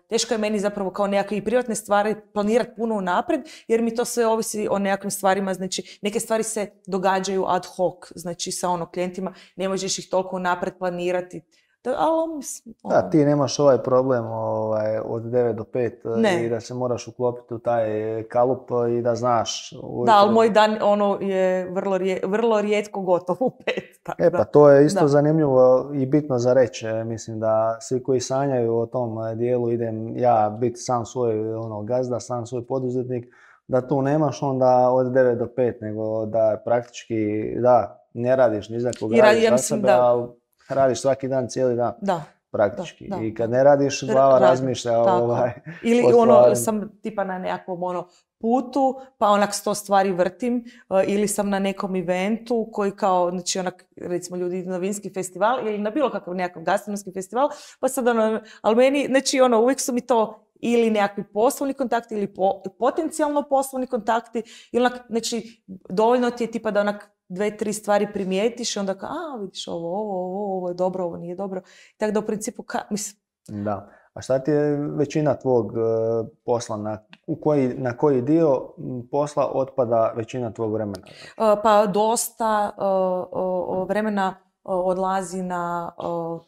teško je meni zapravo kao nekakve i privatne stvari planirati puno unaprijed, jer mi to sve ovisi o nekakvim stvarima, znači neke stvari se događaju ad hoc, znači sa ono klijentima ne možeš ih toliko unaprijed planirati. Da, ali, mislim, ono. Da, ti nemaš ovaj problem ovaj, od devet do pet ne. I da se moraš uklopiti u taj kalup i da znaš. Uvijek... Da, ali moj dan ono je vrlo, rije, vrlo rijetko gotov u pet. Tako e pa da. to je isto da. zanimljivo i bitno za reći. Mislim da svi koji sanjaju o tom dijelu, idem ja biti sam svoj ono, gazda, sam svoj poduzetnik, da tu nemaš onda od devet do pet, nego da praktički da, ne radiš ni za koga, radiš za sebe, da. ali radiš svaki dan, cijeli dan. Da. Praktički. Da, da, I kad ne radiš, glava Rad, razmišlja. Ovaj, ili ono, sam tipa na nekakvom ono, putu, pa onak sto stvari vrtim, uh, ili sam na nekom eventu koji kao, znači onak, recimo ljudi idu na vinski festival ili na bilo kakav nekakav gastronomski festival, pa sad ono, ali meni, znači ono, uvijek su mi to ili nekakvi poslovni kontakti ili po, potencijalno poslovni kontakti, ili onak, znači dovoljno ti je tipa da onak dve, tri stvari primijetiš i onda kao, a vidiš ovo, ovo, ovo, ovo je dobro, ovo nije dobro. Tako da u principu, ka, mislim... Da. A šta ti je većina tvog uh, posla, na, u koji, na koji dio posla otpada većina tvog vremena? Uh, pa dosta uh, uh, vremena uh, odlazi na uh,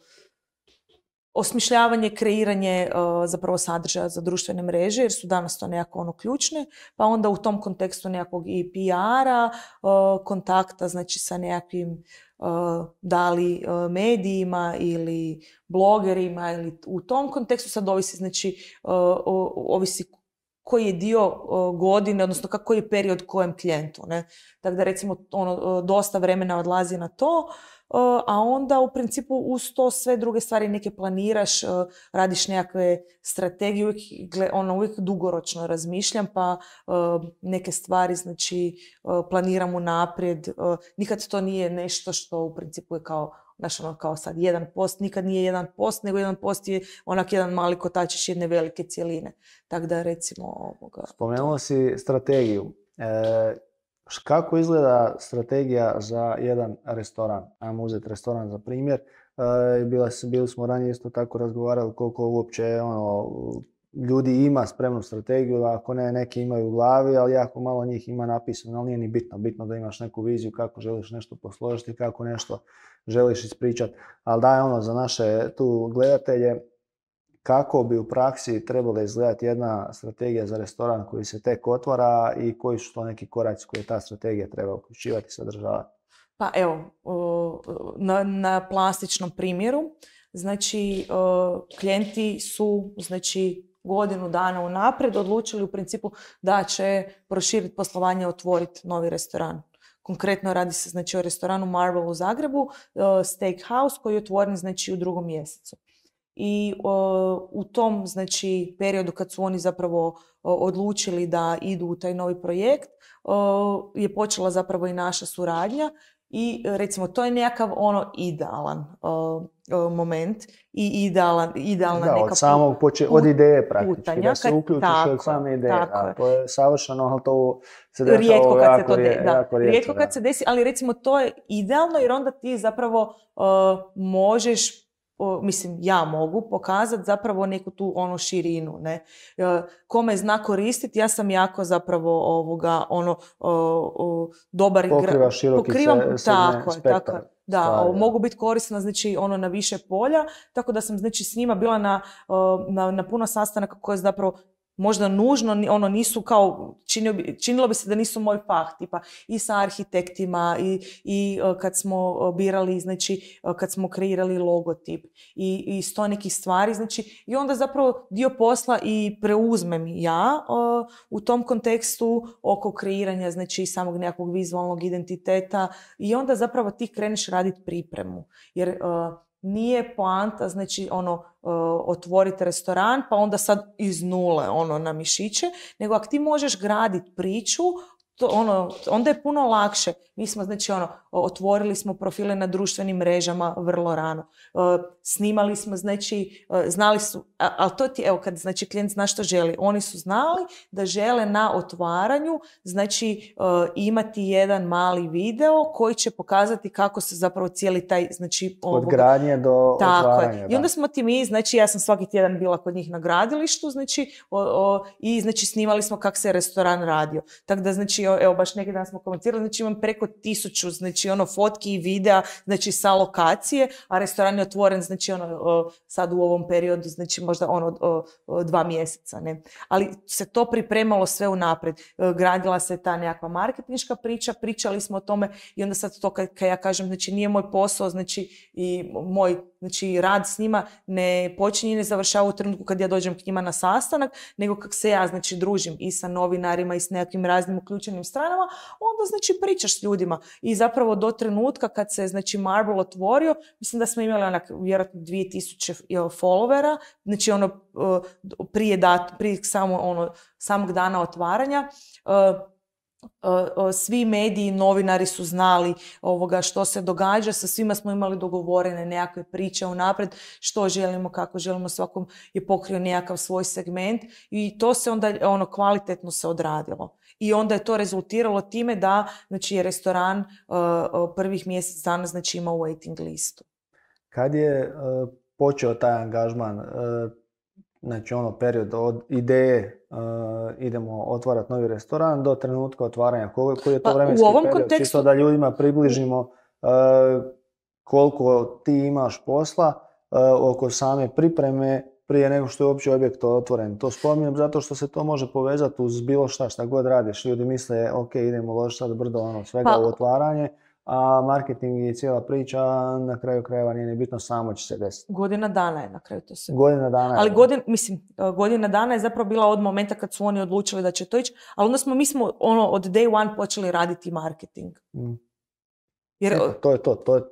osmišljavanje, kreiranje uh, zapravo sadržaja za društvene mreže, jer su danas to nekako ono ključne, pa onda u tom kontekstu nekakvog i P R-a, uh, kontakta znači sa nekakvim uh, da li uh, medijima ili blogerima, ili u tom kontekstu sad ovisi, znači uh, ovisi koji je dio uh, godine, odnosno koji je period kojem klijentu. Ne? Tako da recimo ono, dosta vremena odlazi na to, Uh, a onda u principu uz to sve druge stvari neke planiraš, uh, radiš nekakve strategije, uvijek, ono, uvijek dugoročno razmišljam, pa uh, neke stvari znači uh, planiram unaprijed. Uh, nikad to nije nešto što u principu je kao, znaš, ono, kao sad jedan post, nikad nije jedan post, nego jedan post je onak jedan mali kotačić jedne velike cjeline. Tako da recimo ovoga... Spomenuo si strategiju. E... Kako izgleda strategija za jedan restoran? Ajmo uzeti restoran za primjer. E, bili, bili smo ranije isto tako razgovarali koliko uopće ono, ljudi ima spremnu strategiju, ako ne, neki imaju u glavi, ali jako malo njih ima napisano, ali nije ni bitno. Bitno da imaš neku viziju kako želiš nešto posložiti, kako nešto želiš ispričati. Ali daj ono za naše tu gledatelje, kako bi u praksi trebala izgledati jedna strategija za restoran koji se tek otvara i koji su to neki koraci koje ta strategija treba uključivati i sadržavati? Pa evo, na, na plastičnom primjeru, znači klijenti su znači godinu dana unaprijed odlučili u principu da će proširiti poslovanje, otvoriti novi restoran. Konkretno radi se znači o restoranu Marvel u Zagrebu, Steakhouse, koji je otvoren znači u drugom mjesecu. I uh, u tom znači periodu kad su oni zapravo uh, odlučili da idu u taj novi projekt, uh, je počela zapravo i naša suradnja i recimo to je nekakav ono idealan uh, uh, moment i idealan, idealna da, neka od samog poče- od ideje praktički, putanja, da se uključiš tako, od same ideje, tako a to je savršeno, ali to se dešava rijetko kad se to rije, de- da. jako rijetko. Rijetko kad da. se desi, ali recimo to je idealno jer onda ti zapravo uh, možeš O, mislim, ja mogu pokazati zapravo neku tu ono širinu, ne. E, kome zna koristiti, ja sam jako zapravo ovoga, ono, o, o, dobar igra. Pokriva široki Pokrivam, se, tako, spektar. tako, da, stvari, o, mogu biti korisna, znači, ono, na više polja, tako da sam, znači, s njima bila na, o, na, na puno sastanaka koje zapravo možda nužno, ono nisu kao, činilo bi, činilo bi se da nisu moj fah, tipa i sa arhitektima i, i kad smo birali, znači kad smo kreirali logotip i, i sto nekih stvari, znači i onda zapravo dio posla i preuzmem ja o, u tom kontekstu oko kreiranja, znači samog nekakvog vizualnog identiteta i onda zapravo ti kreneš raditi pripremu, jer o, nije poanta, znači ono, uh, otvoriti restoran pa onda sad iz nule ono na mišiće, nego ako ti možeš graditi priču, to, ono, onda je puno lakše. Mi smo, znači, ono, otvorili smo profile na društvenim mrežama vrlo rano. Uh, snimali smo, znači, uh, znali su, ali to ti, evo, kad, znači, klijent zna što želi. Oni su znali da žele na otvaranju, znači, uh, imati jedan mali video koji će pokazati kako se zapravo cijeli taj, znači, od gradnje do tako otvaranja. Je. I onda smo ti mi, znači, ja sam svaki tjedan bila kod njih na gradilištu, znači, o, o, i, znači, snimali smo kako se restoran radio. Tako da, znači, evo, baš neki dan smo komentirali, znači, imam preko tisuću, znači, ono, fotki i videa, znači, sa lokacije, a restoran je otvoren, znači, ono, o, sad u ovom periodu, znači, možda, ono, o, o, dva mjeseca, ne. Ali se to pripremalo sve unaprijed. Gradila se ta nekakva marketinška priča, pričali smo o tome i onda sad to, kad, kad ja kažem, znači, nije moj posao, znači, i moj, znači, rad s njima ne počinje i ne završava u trenutku kad ja dođem k njima na sastanak, nego kako se ja, znači, družim i sa novinarima i s nekakvim raznim uključenim određenim stranama, onda znači pričaš s ljudima. I zapravo do trenutka kad se znači Marble otvorio, mislim da smo imali onak vjerojatno dvije tisuće followera, znači ono prije, dat, prije samo, ono, samog dana otvaranja. Svi mediji, novinari su znali ovoga što se događa, sa svima smo imali dogovorene nekakve priče unaprijed, što želimo, kako želimo, svakom je pokrio nekakav svoj segment i to se onda ono kvalitetno se odradilo. I onda je to rezultiralo time da znači, je restoran uh, prvih mjesec dana znači, ima waiting listu. Kad je uh, počeo taj angažman, uh, znači ono period od ideje uh, idemo otvarati novi restoran do trenutka otvaranja, koji, koji je to pa, vremenski u ovom period, kontekstu... čisto da ljudima približimo uh, koliko ti imaš posla uh, oko same pripreme prije nego što je uopće objekt otvoren. To spominjem zato što se to može povezati uz bilo šta, šta god radiš. Ljudi misle, ok, idemo uložiti sad brdo ono, svega pa... u otvaranje, a marketing i cijela priča na kraju krajeva nije ni bitno, samo će se desiti. Godina dana je na kraju to se. Godina dana je. Ali godin, mislim, godina dana je zapravo bila od momenta kad su oni odlučili da će to ići, ali onda smo, mi smo ono, od day one počeli raditi marketing. Mm. Jer, Eto, to je to, to je,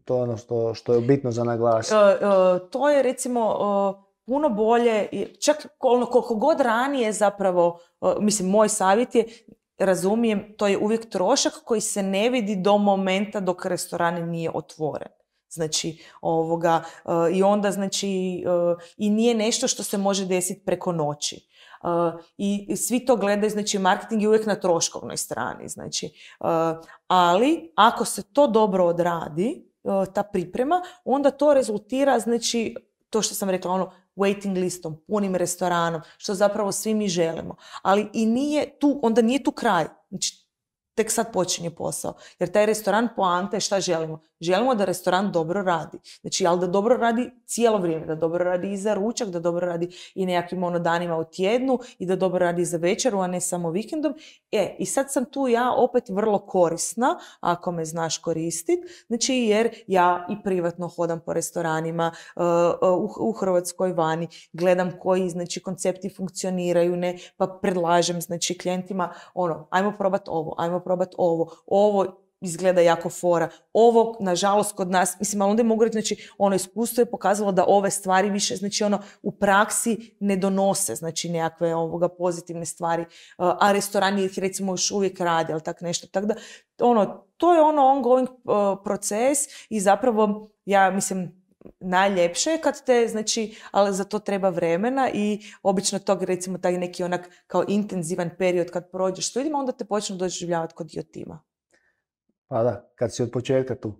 to je ono što, što je bitno za naglasiti. Uh, uh, to je recimo uh, puno bolje, čak ono, koliko god ranije zapravo, uh, mislim, moj savjet je, razumijem, to je uvijek trošak koji se ne vidi do momenta dok restoran nije otvoren. Znači, ovoga, uh, i onda, znači, uh, i nije nešto što se može desiti preko noći. Uh, i svi to gledaju, znači, marketing je uvijek na troškovnoj strani, znači, uh, ali ako se to dobro odradi, uh, ta priprema, onda to rezultira, znači, to što sam rekla, ono, waiting listom, punim restoranom, što zapravo svi mi želimo. Ali i nije tu, onda nije tu kraj. Znači, tek sad počinje posao. Jer taj restoran, poanta je šta želimo? Želimo da restoran dobro radi. Znači, ali da dobro radi cijelo vrijeme, da dobro radi i za ručak, da dobro radi i nekakvim ono danima u tjednu i da dobro radi za večeru, a ne samo vikendom. E, i sad sam tu ja opet vrlo korisna, ako me znaš koristiti, znači jer ja i privatno hodam po restoranima uh, u, u Hrvatskoj, vani, gledam koji, znači, koncepti funkcioniraju, ne, pa predlažem, znači, klijentima, ono, ajmo probati ovo, ajmo probati ovo, ovo izgleda jako fora. Ovo, nažalost, kod nas, mislim, ali onda mogu reći, znači, ono iskustvo je pokazalo da ove stvari više, znači, ono, u praksi ne donose, znači, nekakve ovoga pozitivne stvari, a restorani ih, recimo, još uvijek radi, ali tak nešto. Tako da, ono, to je ono ongoing uh, proces i zapravo, ja mislim, najljepše je kad te, znači, ali za to treba vremena i obično tog, recimo, taj neki onak kao intenzivan period kad prođeš s ljudima, onda te počnu doživljavati kod dio tima. Pa da, kad si od početka tu.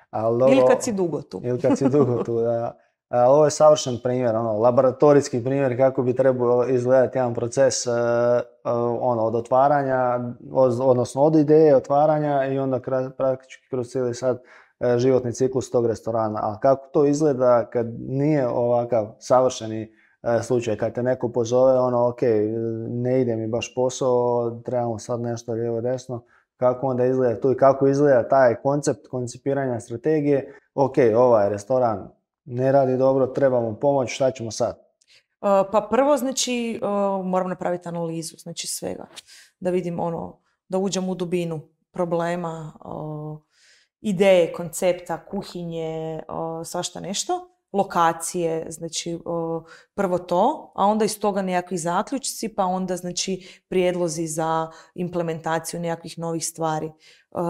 Ali ovo, ili kad si dugo tu. Ili kad si dugo tu, da. A, ovo je savršen primjer, ono, laboratorijski primjer kako bi trebao izgledati jedan proces uh, uh, ono, od otvaranja, od, odnosno od ideje otvaranja i onda kra, praktički kroz cijeli sad uh, životni ciklus tog restorana. A kako to izgleda kad nije ovakav savršeni uh, slučaj, kad te neko pozove, ono, ok, ne ide mi baš posao, trebamo sad nešto lijevo desno, kako onda izgleda tu i kako izgleda taj koncept koncipiranja strategije. Ok, ovaj restoran ne radi dobro, trebamo pomoć, šta ćemo sad? Uh, pa prvo, znači, uh, moram napraviti analizu, znači svega. Da vidim ono, da uđem u dubinu problema, uh, ideje, koncepta, kuhinje, uh, svašta nešto. Lokacije, znači uh, prvo to, a onda iz toga nekakvi zaključci, pa onda znači prijedlozi za implementaciju nekakvih novih stvari. Uh,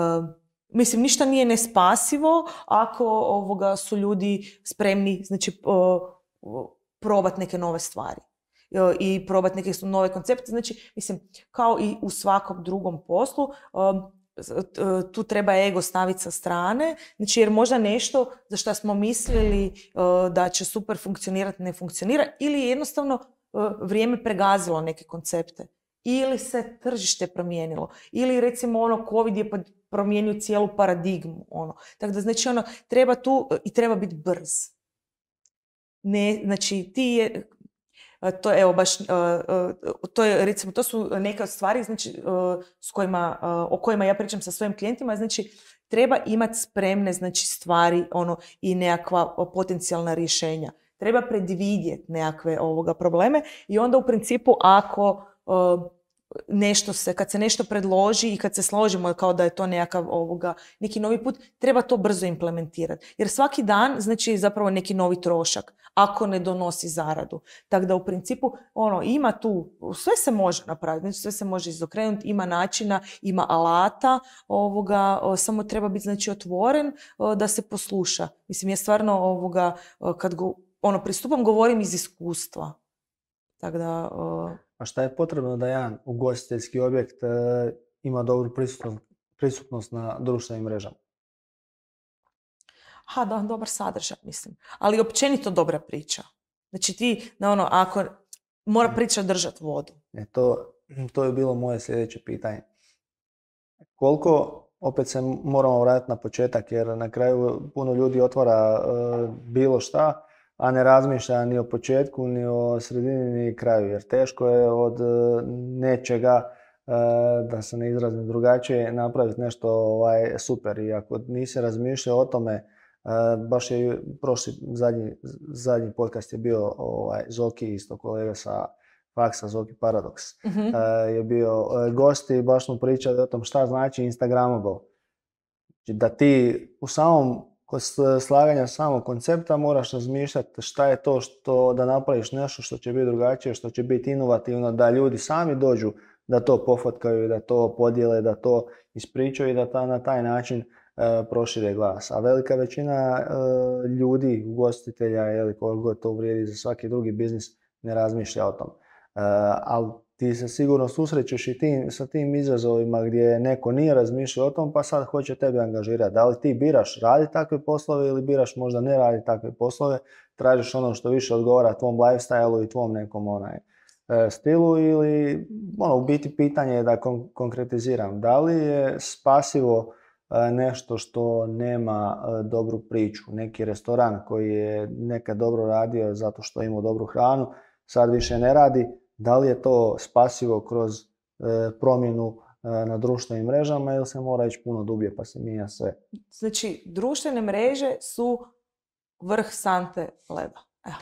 mislim, ništa nije nespasivo ako ovoga su ljudi spremni, znači uh, probati neke nove stvari uh, i probati neke nove koncepte. Znači, mislim, kao i u svakom drugom poslu, uh, tu treba ego staviti sa strane, znači jer možda nešto za što smo mislili uh, da će super funkcionirati ne funkcionira ili jednostavno uh, vrijeme pregazilo neke koncepte ili se tržište promijenilo ili recimo ono COVID je promijenio cijelu paradigmu, ono. Tako da znači ono treba tu uh, i treba biti brz. Ne, znači ti je to evo baš, uh, uh, to je recimo, to su neke od stvari znači, uh, s kojima, uh, o kojima ja pričam sa svojim klijentima, znači treba imati spremne znači, stvari ono, i nekakva potencijalna rješenja. Treba predvidjeti nekakve ovoga probleme i onda u principu ako uh, nešto se, kad se nešto predloži i kad se složimo kao da je to nekakav ovoga, neki novi put, treba to brzo implementirati. Jer svaki dan znači zapravo neki novi trošak, ako ne donosi zaradu. Tako da u principu ono, ima tu, sve se može napraviti, znači sve se može izokrenuti, ima načina, ima alata, ovoga, o, samo treba biti znači otvoren o, da se posluša. Mislim, ja stvarno ovoga, o, kad go, ono, pristupam, govorim iz iskustva. Tako da... O, A šta je potrebno da jedan ugostiteljski objekt e, ima dobru prisutnost, prisutnost na društvenim mrežama? Ha, da, dobar sadržaj, mislim. Ali općenito dobra priča. Znači ti, da ono, ako mora priča držati vodu. E, to, to je bilo moje sljedeće pitanje. Koliko, opet se moramo vratiti na početak, jer na kraju puno ljudi otvara e, bilo šta, a ne razmišlja ni o početku, ni o sredini, ni kraju. Jer teško je od e, nečega, e, da se ne izrazim drugačije, napraviti nešto ovaj, super. I ako nisi razmišljao o tome, e, baš je prošli, zadnji, zadnji podcast je bio ovaj, Zoki, isto kolega sa faksa, Zoki Paradox, Mm-hmm. e, je bio e, gost i baš smo pričali o tom šta znači Instagramable. Da ti u samom kod slaganja samog koncepta moraš razmišljati šta je to što da napraviš nešto što će biti drugačije, što će biti inovativno, da ljudi sami dođu da to pofotkaju, da to podijele, da to ispričaju i da ta, na taj način e, prošire glas. A velika većina e, ljudi, ugostitelja ili koliko god to vrijedi za svaki drugi biznis, ne razmišlja o tom. E, ali ti se sigurno susrećeš i tim, sa tim izazovima gdje neko nije razmišljao o tom pa sad hoće tebe angažirati. Da li ti biraš raditi takve poslove ili biraš možda ne raditi takve poslove, tražiš ono što više odgovara tvom lifestyle-u i tvom nekom onaj, e, stilu ili ono, u biti pitanje je da kon- konkretiziram. Da li je spasivo e, nešto što nema e, dobru priču? Neki restoran koji je nekad dobro radio zato što ima dobru hranu, sad više ne radi. Da li je to spasivo kroz e, promjenu e, na društvenim mrežama ili se mora ići puno dublje pa se mijenja sve? Znači, društvene mreže su vrh sante leda. Evo.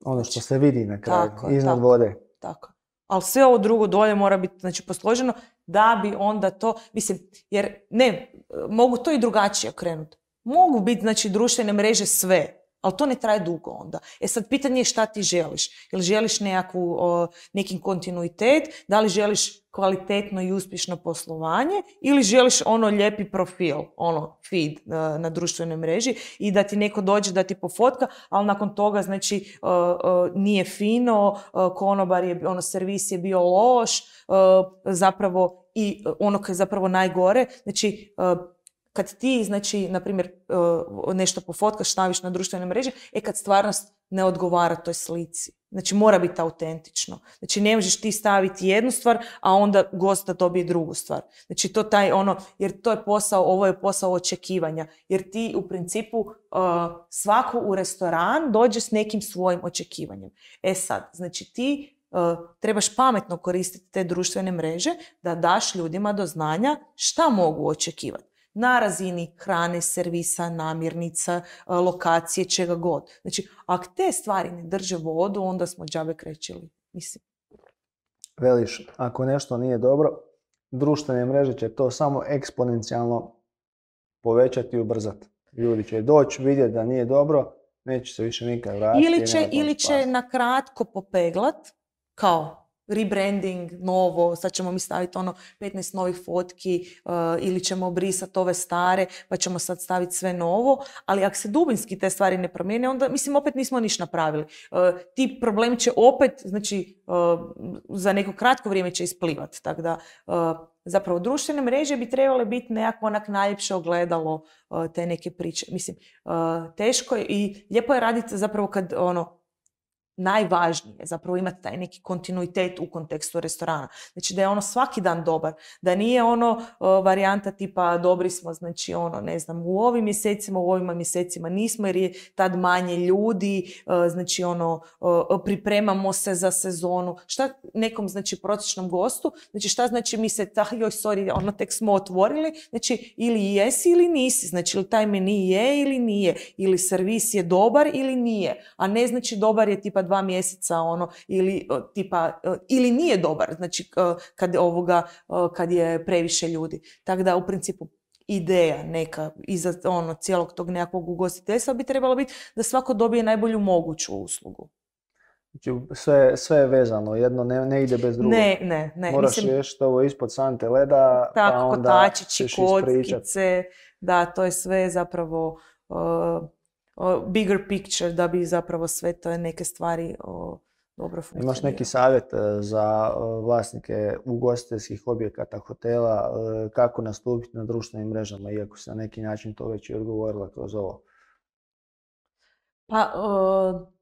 Ono što se vidi na kraju, Tako, iznad tako, vode. Tako. Ali sve ovo drugo dolje mora biti znači, posloženo da bi onda to, mislim, jer ne, mogu to i drugačije okrenuti. Mogu biti, znači, društvene mreže sve, ali to ne traje dugo onda. E sad, pitanje je šta ti želiš. Jel želiš nekakvu, o, neki kontinuitet, da li želiš kvalitetno i uspješno poslovanje ili želiš ono lijepi profil, ono feed na, na društvenoj mreži i da ti neko dođe da ti pofotka, ali nakon toga znači uh, uh, nije fino, uh, konobar je, ono servis je bio loš, uh, zapravo i ono koje je zapravo najgore, znači uh, kad ti, znači, na primjer, nešto pofotkaš, staviš na društvene mreže, e kad stvarnost ne odgovara toj slici. Znači, mora biti autentično. Znači, ne možeš ti staviti jednu stvar, a onda gost da dobije drugu stvar. Znači, to taj ono, jer to je posao, ovo je posao očekivanja. Jer ti, u principu, svako u restoran dođe s nekim svojim očekivanjem. E sad, znači, ti trebaš pametno koristiti te društvene mreže da daš ljudima do znanja šta mogu očekivati. Na razini hrane, servisa, namirnica, lokacije, čega god. Znači, ako te stvari ne drže vodu, onda smo džabe krećili. Mislim. Veliš, ako nešto nije dobro, društvene mreže će to samo eksponencijalno povećati i ubrzati. Ljudi će doći, vidjeti da nije dobro, neće se više nikad vratiti. Ili će, ili će na kratko popeglat, kao rebranding, novo, sad ćemo mi staviti ono petnaest novih fotki uh, ili ćemo brisati ove stare pa ćemo sad staviti sve novo, ali ako se dubinski te stvari ne promijene, onda mislim opet nismo ništa napravili. Uh, ti problemi će opet, znači uh, za neko kratko vrijeme će isplivati, tako da uh, zapravo društvene mreže bi trebale biti nekako onak najljepše ogledalo uh, te neke priče. Mislim, uh, teško je i lijepo je raditi zapravo kad ono najvažnije je zapravo imati taj neki kontinuitet u kontekstu restorana. Znači da je ono svaki dan dobar, da nije ono uh, varijanta tipa dobri smo, znači ono ne znam u ovim mjesecima, u ovim mjesecima nismo jer je tad manje ljudi, uh, znači ono uh, pripremamo se za sezonu. Šta nekom znači prosječnom gostu, znači šta znači mi se, ta, joj sorry, ono tek smo otvorili, znači ili jesi ili nisi, znači ili taj meni je ili nije, ili servis je dobar ili nije, a ne znači dobar je tipa dva mjeseca, ono, ili uh, tipa, uh, ili nije dobar, znači uh, kad, ovoga, uh, kad je previše ljudi. Tako da u principu ideja neka iza ono, cijelog tog nekakvog ugostiteljstva bi trebalo biti da svako dobije najbolju moguću uslugu. Znači, sve, sve je vezano, jedno ne, ne ide bez drugog. Ne, ne, ne. Moraš Mislim, riješiti ovo ispod sante leda, tako, pa onda kotačići, ćeš ispričat. kockice, da, to je sve zapravo uh, uh, bigger picture, da bi zapravo sve te neke stvari uh, dobro funkcionirale. Imaš neki savjet uh, za uh, vlasnike ugostiteljskih objekata, hotela, uh, kako nastupiti na društvenim mrežama, iako se na neki način to već i odgovorila kroz ovo? Pa, uh,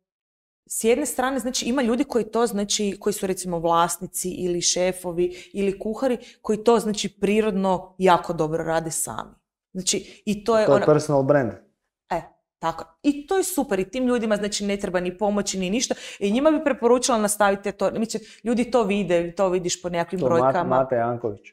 s jedne strane, znači, ima ljudi koji to, znači, koji su recimo vlasnici ili šefovi ili kuhari, koji to, znači, prirodno jako dobro rade sami. Znači, i to je... To je ona... personal brand. E, tako. I to je super. I tim ljudima, znači, ne treba ni pomoći, ni ništa. I njima bi preporučila nastaviti to. Mislim, ljudi to vide, to vidiš po nekakvim to brojkama. To Mate Janković.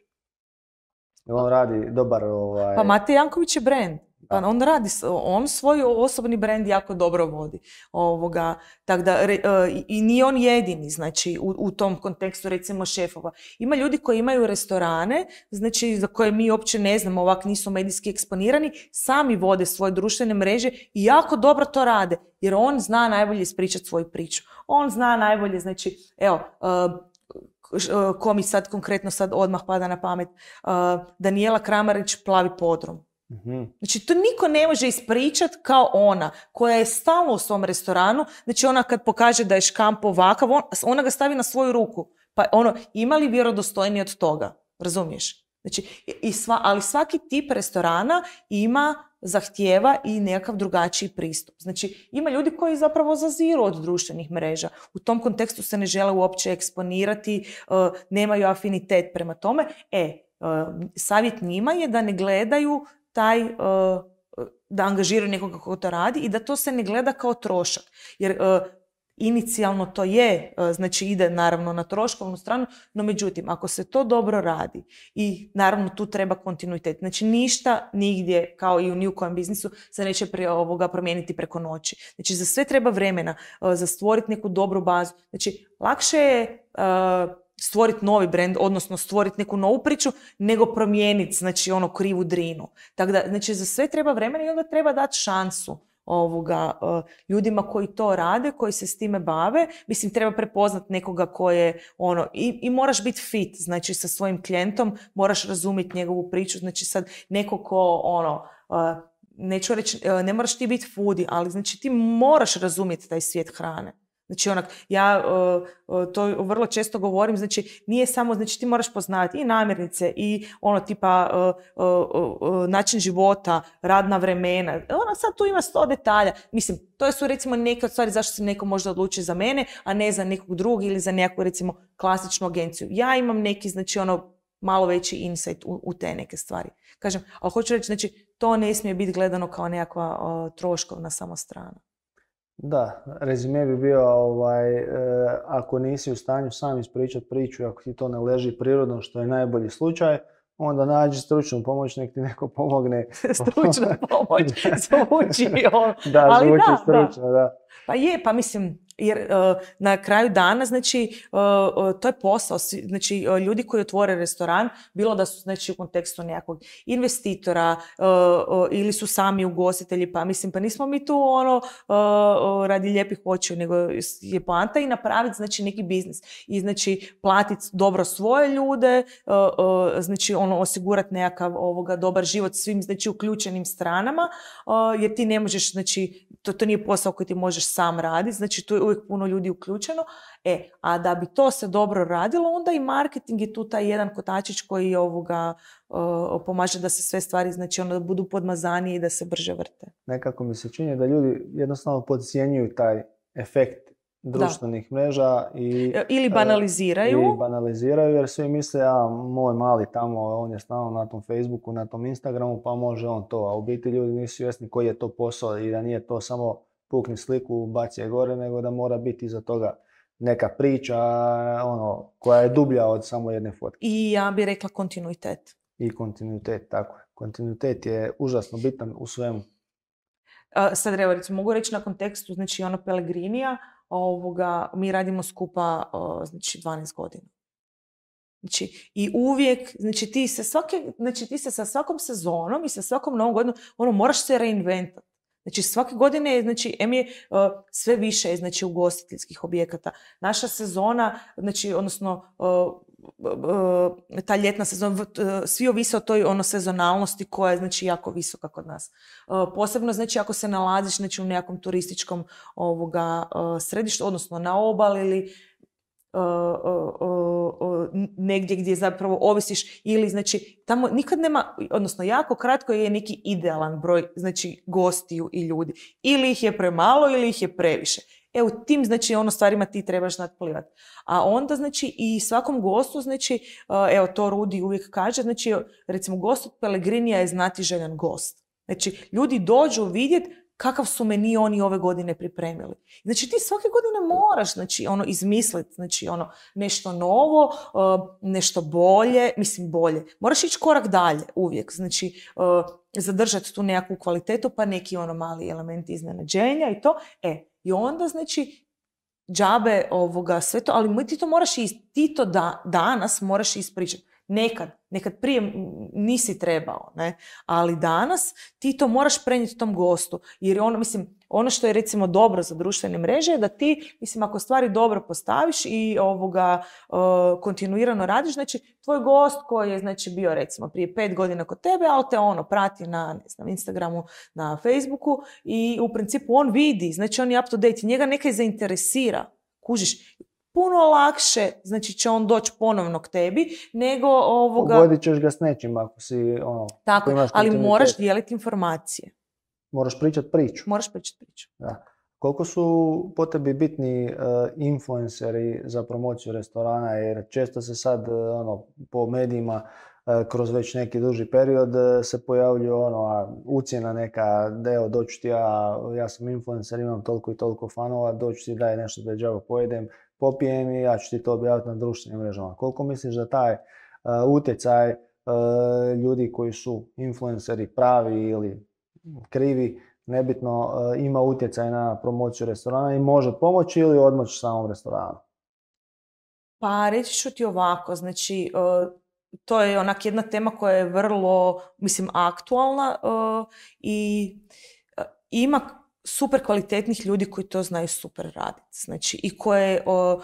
On radi dobar... Ovaj... Pa Mate Janković je brand. Pa on radi, on svoj osobni brand jako dobro vodi. Ovoga, tak da, re, i nije on jedini, znači, u, u tom kontekstu, recimo, šefova. Ima ljudi koji imaju restorane, znači, za koje mi uopće ne znamo, ovak nisu medijski eksponirani, sami vode svoje društvene mreže i jako dobro to rade, jer on zna najbolje ispričati svoju priču. On zna najbolje, znači, evo, uh, ko mi sad konkretno sad odmah pada na pamet, uh, Danijela Kramarić, Plavi podrum. Mm-hmm. Znači, to niko ne može ispričati kao ona, koja je stalno u svom restoranu. Znači, ona kad pokaže da je škamp ovakav, on, ona ga stavi na svoju ruku. Pa ono, ima li vjerodostojniji od toga? Razumiješ? Znači, i sva, ali svaki tip restorana ima, zahtijeva i nekakav drugačiji pristup. Znači, ima ljudi koji zapravo zaziru od društvenih mreža. U tom kontekstu se ne žele uopće eksponirati, uh, nemaju afinitet prema tome. E, uh, savjet njima je da ne gledaju taj, uh, da angažiraju nekoga ko to radi i da to se ne gleda kao trošak. Jer uh, inicijalno to je, uh, znači ide naravno na troškovnu stranu, no međutim, ako se to dobro radi i naravno tu treba kontinuitet. Znači ništa nigdje, kao i u ni u kojem biznisu, se neće pre ovoga promijeniti preko noći. Znači za sve treba vremena, uh, za stvoriti neku dobru bazu. Znači lakše je uh, stvoriti novi brand, odnosno stvoriti neku novu priču, nego promijeniti, znači, ono, krivu drinu. Tako da, znači, za sve treba vremena i onda treba dati šansu ovoga, uh, ljudima koji to rade, koji se s time bave. Mislim, treba prepoznati nekoga ko je, ono, i, i moraš biti fit, znači, sa svojim klijentom, moraš razumjeti njegovu priču, znači, sad, neko ko, ono, uh, neću reći, uh, ne moraš ti biti foodie, ali, znači, ti moraš razumjeti taj svijet hrane. Znači, onak, ja uh, uh, to vrlo često govorim, znači, nije samo, znači, ti moraš poznavati i namirnice i ono tipa uh, uh, uh, način života, radna vremena. Ono sad tu ima sto detalja. Mislim, to su recimo neke od stvari zašto se neko možda odluči za mene, a ne za nekog drugog ili za nekakvu recimo klasičnu agenciju. Ja imam neki, znači, ono, malo veći insight u, u te neke stvari. Kažem, ali hoću reći, znači, to ne smije biti gledano kao nekakva uh, troškovna samo strana. Da, rezime bi bio ovaj, e, ako nisi u stanju sam ispričati priču, ako ti to ne leži prirodno, što je najbolji slučaj, onda nađi stručnu pomoć, nek ti neko pomogne. Stručna pomoć, zvuči on. Da, ali zvuči da, stručno, da. da. Pa je, pa mislim, jer uh, na kraju dana, znači, uh, uh, to je posao. Znači, uh, ljudi koji otvore restoran, bilo da su, znači, u kontekstu nekakvog investitora uh, uh, ili su sami ugostitelji, pa mislim, pa nismo mi tu ono uh, uh, radi lijepih očiju, nego je poanta i napraviti, znači, neki biznis. I, znači, platiti dobro svoje ljude, uh, uh, znači, ono, osigurati nekakav ovoga dobar život svim, znači, uključenim stranama, uh, jer ti ne možeš, znači, to, to nije posao koji ti možeš sam raditi, znači tu je uvijek puno ljudi uključeno. E, a da bi to se dobro radilo, onda i marketing je tu taj jedan kotačić koji ovoga uh, pomaže da se sve stvari, znači ono da budu podmazanije i da se brže vrte. Nekako mi se čini da ljudi jednostavno podcjenjuju taj efekt društvenih da. mreža i ili banaliziraju. Ili banaliziraju jer svi misle, a moj mali tamo, on je stalno na tom Facebooku, na tom Instagramu, pa može on to. A u biti ljudi nisu svjesni koji je to posao i da nije to samo pukni sliku, baci je gore, nego da mora biti iza toga neka priča ono, koja je dublja od samo jedne fotke. I ja bih rekla kontinuitet. I kontinuitet, tako je. Kontinuitet je užasno bitan u svemu. Uh, sad evo, recimo, mogu reći na kontekstu, znači ono Pellegrinija, ovoga, mi radimo skupa o, znači dvanaest godina. Znači, i uvijek, znači ti se svake, znači ti se sa svakom sezonom i sa svakom novom godinom, ono, moraš se reinventati. Znači, svake godine je, znači, em je uh, sve više je, znači, ugostiteljskih objekata. Naša sezona, znači, odnosno, uh, uh, ta ljetna sezona, uh, svi ovise o toj, ono, sezonalnosti koja je, znači, jako visoka kod nas. Uh, posebno, znači, ako se nalaziš, znači, u nekakvom turističkom ovoga uh, središtu, odnosno na obali ili Uh, uh, uh, uh, negdje gdje zapravo ovisiš ili znači tamo nikad nema, odnosno jako kratko je neki idealan broj znači gostiju i ljudi. Ili ih je premalo ili ih je previše. E u tim znači ono stvarima ti trebaš nadplivati. A onda znači i svakom gostu znači uh, evo to Rudi uvijek kaže, znači recimo gost od Pellegrinija je znatiželjan gost. Znači ljudi dođu vidjeti kakav su meni oni ove godine pripremili. Znači ti svake godine moraš znači, ono, izmisliti znači, ono, nešto novo, uh, nešto bolje, mislim bolje. Moraš ići korak dalje uvijek, znači uh, zadržati tu nekakvu kvalitetu pa neki ono mali elementi iznenađenja i to. E, i onda znači džabe ovoga sve to, ali ti to moraš is, ti to da, danas moraš ispričati. Nekad, nekad prije nisi trebao, ne? Ali danas ti to moraš prenijeti tom gostu. Jer ono, mislim, ono što je recimo dobro za društvene mreže je da ti, mislim, ako stvari dobro postaviš i ovoga uh, kontinuirano radiš, znači tvoj gost koji je znači bio recimo prije pet godina kod tebe, ali te ono prati na, ne znam, Instagramu, na Facebooku i u principu on vidi, znači on je up to date, njega nekaj zainteresira, kužiš. Puno lakše, znači će on doći ponovno k tebi, nego ovoga... Pogodit ćeš ga s nečim ako si ono... Tako, ali moraš dijeliti informacije. Moraš pričati priču. Moraš pričati priču. Da. Koliko su po tebi bitni uh, influenceri za promociju restorana, jer često se sad uh, ono, po medijima uh, kroz već neki duži period uh, se pojavljuje ono, a, ucjena neka, da evo doću ti ja, ja sam influencer, imam toliko i toliko fanova, doću ti daj nešto da džaba pojedem, popijem i ja ću ti to objaviti na društvenim mrežama. Koliko misliš da taj uh, utjecaj uh, ljudi koji su influenceri pravi ili krivi, nebitno, uh, ima utjecaj na promociju restorana i može pomoći ili odmoći samom restoranu? Pa reći ću ti ovako, znači uh, to je onak jedna tema koja je vrlo, mislim, aktualna uh, i uh, ima super kvalitetnih ljudi koji to znaju super raditi. Znači, i koje o,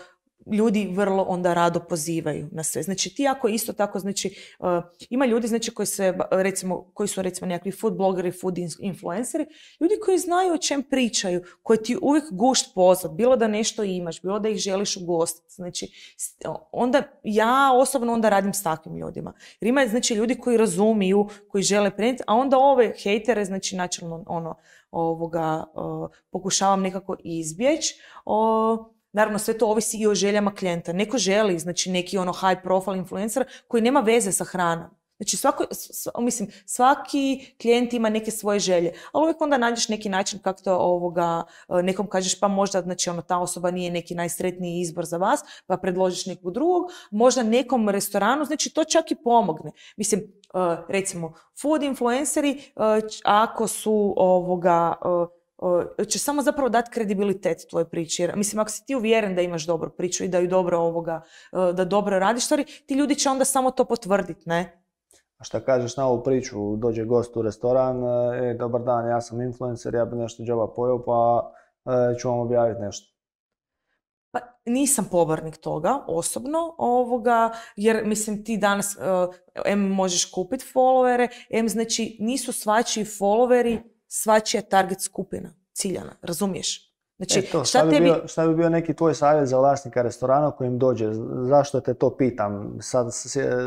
ljudi vrlo onda rado pozivaju na sve. Znači, ti ako isto tako, znači, uh, ima ljudi, znači, koji se, recimo, koji su, recimo, nekakvi food blogeri, food influenceri, ljudi koji znaju o čem pričaju, koji ti uvijek gušt pozvat, bilo da nešto imaš, bilo da ih želiš ugostiti. Znači, onda, ja osobno onda radim s takvim ljudima. Jer ima, znači, ljudi koji razumiju, koji žele prenijeti, a onda ove hejtere, znači, načelno, ono, ovoga, uh, pokušavam nekako izbjeći. Uh, naravno, sve to ovisi i o željama klijenta. Neko želi, znači, neki ono high profile influencer koji nema veze sa hranom. Znači, svako, sv, mislim, svaki klijent ima neke svoje želje, ali uvijek onda nađeš neki način kako to ovoga, nekom kažeš pa možda, znači, ono, ta osoba nije neki najsretniji izbor za vas, pa predložiš nekog drugog, možda nekom restoranu, znači, to čak i pomogne. Mislim, uh, recimo, food influenceri, uh, ako su ovoga... Uh, će samo zapravo dati kredibilitet tvojoj priči. Jer, mislim, ako si ti uvjeren da imaš dobru priču i da ju dobro ovoga, da dobro radiš stvari, ti ljudi će onda samo to potvrditi, ne? A šta kažeš na ovu priču, dođe gost u restoran, e, dobar dan, ja sam influencer, ja bi nešto džaba pojeo, pa e, ću vam objaviti nešto. Pa nisam pobornik toga, osobno, ovoga, jer mislim ti danas, uh, em možeš kupiti followere, em znači nisu svačiji followeri svačija target skupina, ciljana, razumiješ? Znači, e to, šta, šta, bi tebi... bio, šta bi bio neki tvoj savjet za vlasnika restorana kojim dođe? Zašto te to pitam? Sad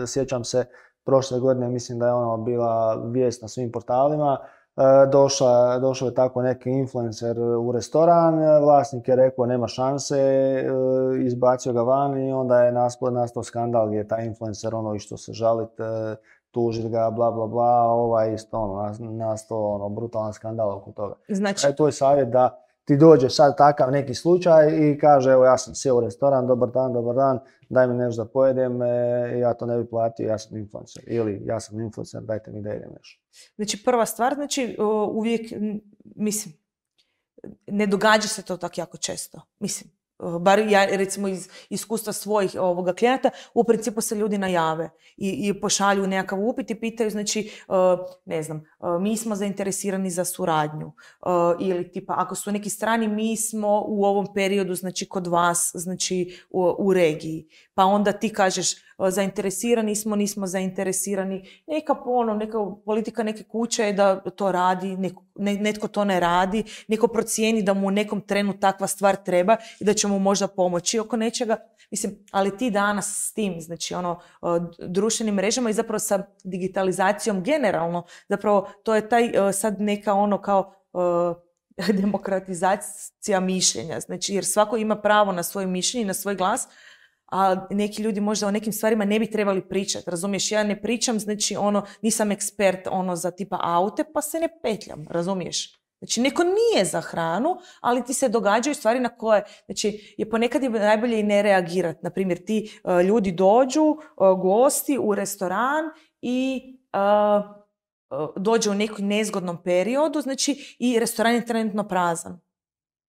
sjećam se, prošle godine mislim da je ono bila vijest na svim portalima, e, došla, došao je tako neki influencer u restoran, vlasnik je rekao nema šanse, e, izbacio ga van i onda je nastao, nastao skandal gdje je taj influencer ono išao se žaliti, e, tužiti ga, bla, bla, bla, ovaj isto ono, nastao ono, brutalan skandal oko toga. Znači... E, to je savjet da ti dođe sad takav neki slučaj i kaže evo ja sam sjeo u restoran, dobar dan, dobar dan, daj mi nešto da pojedem, e, ja to ne bi platio, ja sam influencer. Ili ja sam influencer, dajte mi da idem nešto. Znači prva stvar, znači uvijek, mislim, ne događa se to tako jako često. Mislim, bar ja recimo iz iskustva svojih ovoga klijenata, u principu se ljudi najave i, i pošalju nekakav upit i pitaju, znači, uh, ne znam, uh, mi smo zainteresirani za suradnju uh, ili tipa, ako su neki strani, mi smo u ovom periodu, znači, kod vas, znači, u, u regiji. Pa onda ti kažeš, uh, zainteresirani smo, nismo zainteresirani. Neka ono, neka politika neke kuće je da to radi, neko, ne, netko to ne radi, neko procijeni da mu u nekom trenu takva stvar treba i da će mu možda pomoći oko nečega. Mislim, ali ti danas s tim, znači ono, društvenim mrežama i zapravo sa digitalizacijom generalno, zapravo to je taj sad neka ono kao demokratizacija mišljenja, znači jer svako ima pravo na svoje mišljenje, na svoj glas, a neki ljudi možda o nekim stvarima ne bi trebali pričati, razumiješ? Ja ne pričam, znači ono, nisam ekspert ono za tipa aute, pa se ne petljam, razumiješ? Znači, neko nije za hranu, ali ti se događaju stvari na koje, znači, je ponekad je najbolje i ne reagirati. Naprimjer, ti uh, ljudi dođu, uh, gosti u restoran i uh, uh, dođe u nekom nezgodnom periodu, znači, i restoran je trenutno prazan.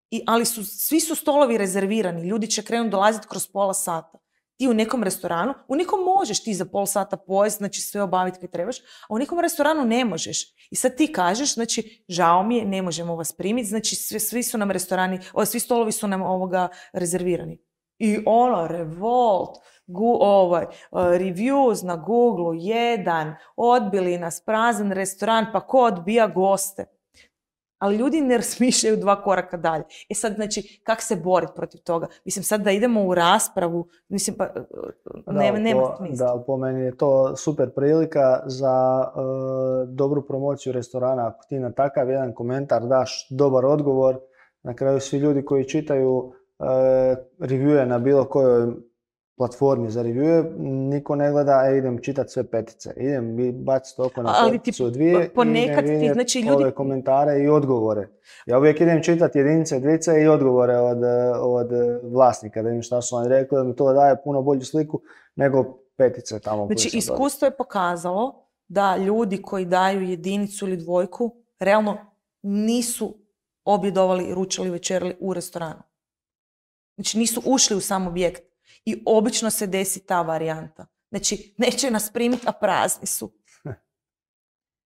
I, ali su, svi su stolovi rezervirani, ljudi će krenuti dolaziti kroz pola sata. Ti u nekom restoranu, u nekom možeš ti za pol sata pojesti, znači sve obaviti kad trebaš, a u nekom restoranu ne možeš. I sad ti kažeš, znači, žao mi je, ne možemo vas primiti, znači svi, svi su nam restorani, o, svi stolovi su nam ovoga rezervirani. I ono, revolt, gu, ovaj, uh, reviews na Google, jedan, odbili nas, prazan restoran, pa ko odbija goste? Ali ljudi ne razmišljaju dva koraka dalje. E sad, znači, kako se boriti protiv toga? Mislim, sad da idemo u raspravu, mislim, pa nema, da, nema po, smisla. Da, po meni je to super prilika za uh, dobru promociju restorana. Ako ti na takav jedan komentar daš dobar odgovor, na kraju svi ljudi koji čitaju uh, reviewe na bilo kojoj platformi za reviewe, niko ne gleda, e, idem čitati sve petice. Idem baciti oko na peticu dvije i idem vidjeti znači, ljudi... ove komentare i odgovore. Ja uvijek idem čitati jedinice, dvice i odgovore od, od vlasnika, da vidim šta su oni rekli, da mi to daje puno bolju sliku nego petice tamo. Znači, iskustvo je pokazalo da ljudi koji daju jedinicu ili dvojku realno nisu objedovali, ručali, večerali u restoranu. Znači, nisu ušli u sam objekt. I obično se desi ta varijanta. Znači, neće nas primiti, a prazni su.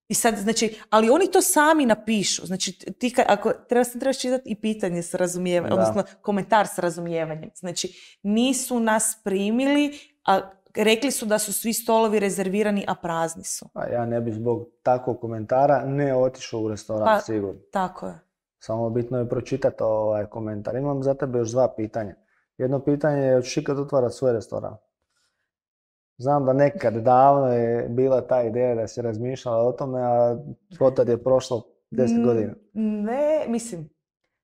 I sad, znači, ali oni to sami napišu. Znači, ti ka, ako treba, trebaš čitati i pitanje s razumijevanjem, odnosno komentar s razumijevanjem. Znači, nisu nas primili, a rekli su da su svi stolovi rezervirani, a prazni su. A ja ne bi zbog takvog komentara ne otišao u restoran, pa, sigurno. Tako je. Samo bitno je pročitati ovaj komentar. Imam za tebe još dva pitanja. Jedno pitanje je, hoćeš ikad otvarati svoj restoran? Znam da nekad davno je bila ta ideja da si razmišljala o tome, a otad je prošlo deset godina. Ne, mislim,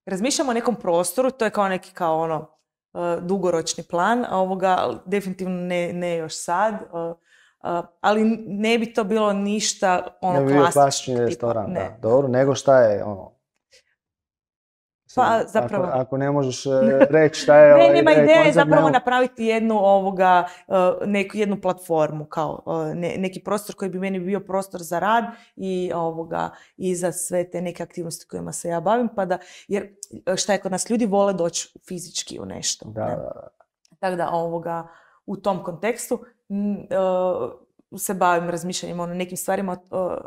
razmišljamo o nekom prostoru, to je kao neki kao ono uh, dugoročni plan, a ovoga definitivno ne, ne još sad, uh, uh, ali ne bi to bilo ništa ono klasično. Ne bi bio klasični restoran, da. Dobro, nego šta je ono? Pa, zapravo... Ako, ako ne možeš reći šta je... Ne, ovaj, nema ideja je zapravo nema... napraviti jednu, ovoga, neku, jednu platformu, kao ne, neki prostor koji bi meni bio prostor za rad i, ovoga, i za sve te neke aktivnosti kojima se ja bavim. Pa da, jer šta je kod nas, ljudi vole doći fizički u nešto. Da, ne? da. Tako da ovoga, u tom kontekstu uh, se bavim razmišljanjem o nekim stvarima,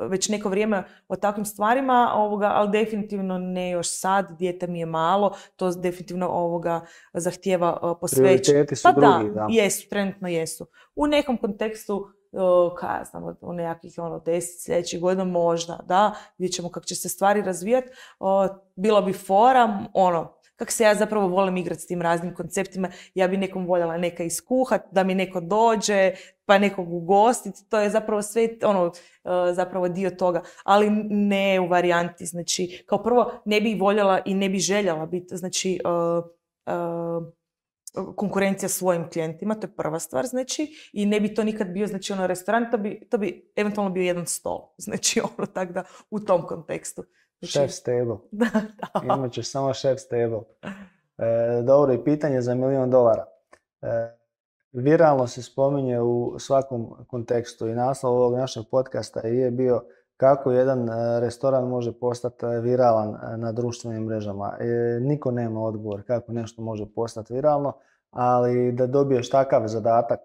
već neko vrijeme o takvim stvarima, ovoga, ali definitivno ne još sad, dijete mi je malo, to definitivno ovoga zahtijeva posvećenje. Prioriteti su pa drugi, da, da. jesu, trenutno jesu. U nekom kontekstu, kaj ja znam, u nekakvih ono, deset sljedećih godina možda, da, vidjet ćemo kako će se stvari razvijati, bilo bi fora, ono, kako se ja zapravo volim igrati s tim raznim konceptima, ja bi nekom voljela neka iskuhat, da mi neko dođe, pa nekog ugostiti, to je zapravo sve ono, zapravo dio toga, ali ne u varijanti, znači, kao prvo ne bi voljela i ne bi željela biti, znači, uh, uh, konkurencija svojim klijentima, to je prva stvar, znači, i ne bi to nikad bio, znači, ono, restoran, to bi, to bi eventualno bio jedan stol, znači, ono, tako da, u tom kontekstu. Chef stable. Da, da. Imat ćeš samo chef stable. E, dobro, i pitanje za milion dolara. E, viralno se spominje u svakom kontekstu i naslov ovog našeg podcasta je bio kako jedan restoran može postati viralan na društvenim mrežama. E, niko nema odgovor kako nešto može postati viralno, ali da dobiješ takav zadatak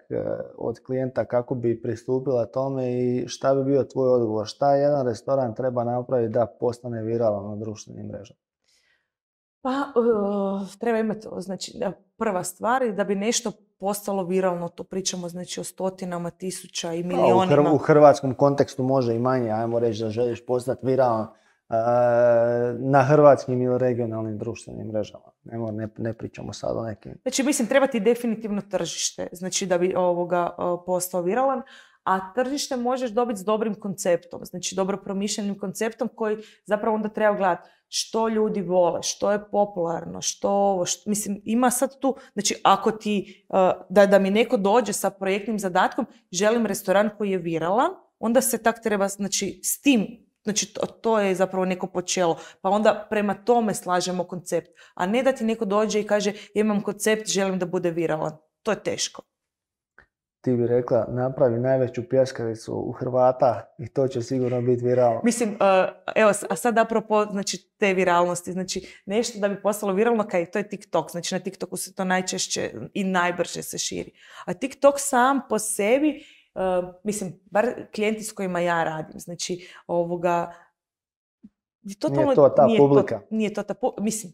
od klijenta kako bi pristupila tome i šta bi bio tvoj odgovor, šta jedan restoran treba napraviti da postane viralan na društvenim mrežama? Pa, uh, treba imati, znači, prva stvar je da bi nešto postalo viralno, to pričamo, znači, o stotinama tisuća i milionima. Pa, u, hr- u hrvatskom kontekstu može i manje, ajmo reći da želiš postati viralan uh, na hrvatskim ili regionalnim društvenim mrežama. Nemo, ne, ne pričamo sad o nekim. Znači, mislim, treba ti definitivno tržište, znači, da bi ovoga uh, postao viralan. A tržište možeš dobiti s dobrim konceptom, znači dobro promišljenim konceptom koji zapravo onda treba gledati što ljudi vole, što je popularno, što ovo, što, mislim, ima sad tu, znači ako ti, uh, da, da mi neko dođe sa projektnim zadatkom, želim restoran koji je viralan, onda se tak treba, znači s tim, znači to, to je zapravo neko počelo, pa onda prema tome slažemo koncept, a ne da ti neko dođe i kaže ja imam koncept, želim da bude viralan, to je teško. Ti bi rekla, napravi najveću pljeskavicu u Hrvata i to će sigurno biti viralno. Mislim, uh, evo, a sad apropo, znači, te viralnosti, znači, nešto da bi postalo viralno, kaj, to je TikTok, znači na TikToku se to najčešće i najbrže se širi. A TikTok sam po sebi, uh, mislim, bar klijenti s kojima ja radim, znači, ovoga, totalno, nije to ta nije publika. To, nije to ta publika, mislim,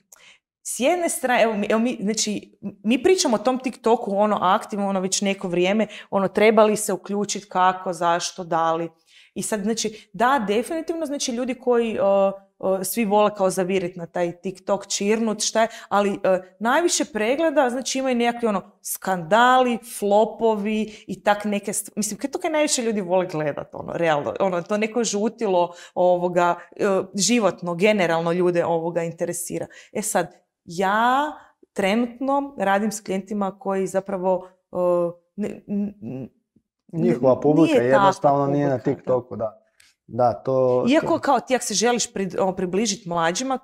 s jedne strane, evo, evo mi, znači, mi pričamo o tom TikToku ono aktivno, ono već neko vrijeme, ono treba li se uključiti, kako, zašto, da li. I sad, znači, da, definitivno, znači, ljudi koji uh, uh, svi vole kao zaviriti na taj TikTok, čirnut, šta je, ali uh, najviše pregleda, znači, imaju nekakvi ono skandali, flopovi i tak neke, mislim, kaj to kaj najviše ljudi vole gledati, ono, realno, ono, to neko žutilo ovoga, uh, životno, generalno ljude ovoga interesira. E sad, ja trenutno radim s klijentima koji zapravo uh, ne, n, njihova publika nije jednostavno nije publika, na TikToku, da. Da, to... Iako kao ti ako se želiš pri, o, približiti mlađima,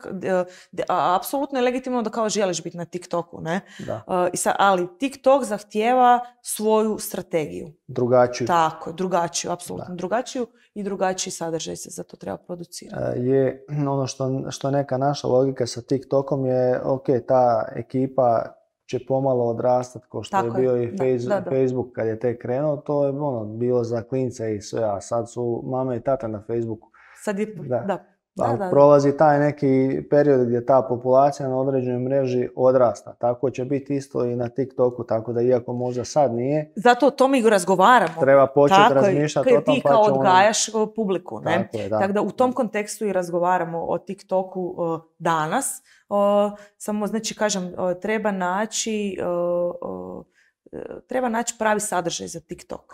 apsolutno je legitimno da kao želiš biti na TikToku, ne? Da. Uh, i sad, ali TikTok zahtijeva svoju strategiju. Drugačiju. Tako, drugačiju, apsolutno drugačiju i drugačiji sadržaj se za to treba producirati. Uh, je ono što, što neka naša logika sa TikTokom je, ok, ta ekipa će pomalo odrastati, kao što tako je bio je. i face, da, da, da. Facebook kad je tek krenuo, to je ono, bilo za klince i sve, a sad su mame i tate na Facebooku. Sad je, da. da. Da, da, da. Prolazi taj neki period gdje ta populacija na određenoj mreži odrasta. Tako će biti isto i na TikToku, tako da iako možda sad nije. Zato o tome i razgovaramo. Treba početi razmišljati o tom. Ti kao odgajaš ono... publiku. Ne? Tako je, da. Tako da u tom kontekstu i razgovaramo o TikToku uh, danas. Uh, samo, znači, kažem, uh, treba naći uh, uh, treba naći pravi sadržaj za TikTok.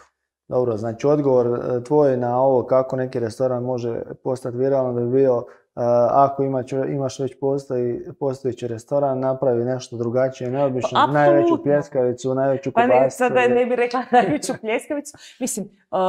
Dobro, znači odgovor tvoj na ovo kako neki restoran može postati viralan bi bio uh, ako imaš, imaš već postoji, postojići restoran, napravi nešto drugačije, neobično, pa, najveću pljeskavicu, najveću kobasicu. Pa ne, sada ne bih rekla najveću pljeskavicu. Mislim, uh,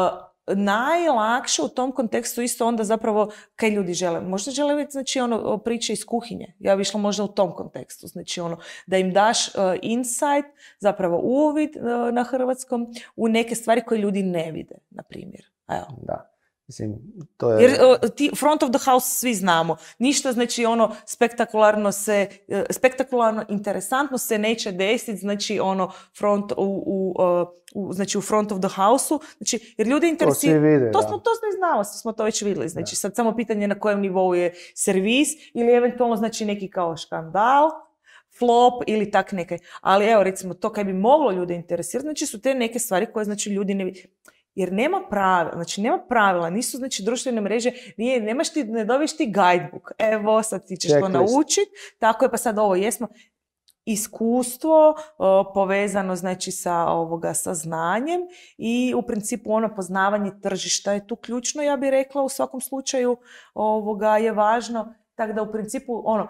najlakše u tom kontekstu isto onda zapravo kaj ljudi žele. Možda žele vidjeti, znači, ono, priče iz kuhinje. Ja bi išla možda u tom kontekstu. Znači, ono, da im daš uh, insight, zapravo uvid uh, na hrvatskom u neke stvari koje ljudi ne vide, na primjer. Evo. Da. Mislim, to je... Jer uh, ti front of the house svi znamo. Ništa, znači, ono, spektakularno se, uh, spektakularno, interesantno se neće desiti, znači, ono, front u, u, uh, u, znači, u front of the house-u. Znači, jer ljudi interesiraju... To svi vide, to da. smo, to smo znali, smo to već vidjeli. Znači, da. Sad samo pitanje na kojem nivou je servis ili eventualno, znači, neki kao škandal, flop ili tak neke. Ali, evo, recimo, to kaj bi moglo ljude interesirati, znači, su te neke stvari koje, znači, ljudi ne vidi. Jer nema pravila, znači nema pravila, nisu, znači, društvene mreže, nije, nemaš ti, ne dobiješ ti guidebook, evo sad ti ćeš to naučiti, tako je, pa sad ovo jesmo. Iskustvo uh, povezano, znači, sa ovoga, sa znanjem i u principu ono poznavanje tržišta je tu ključno, ja bih rekla, u svakom slučaju ovoga je važno, tako da u principu ono,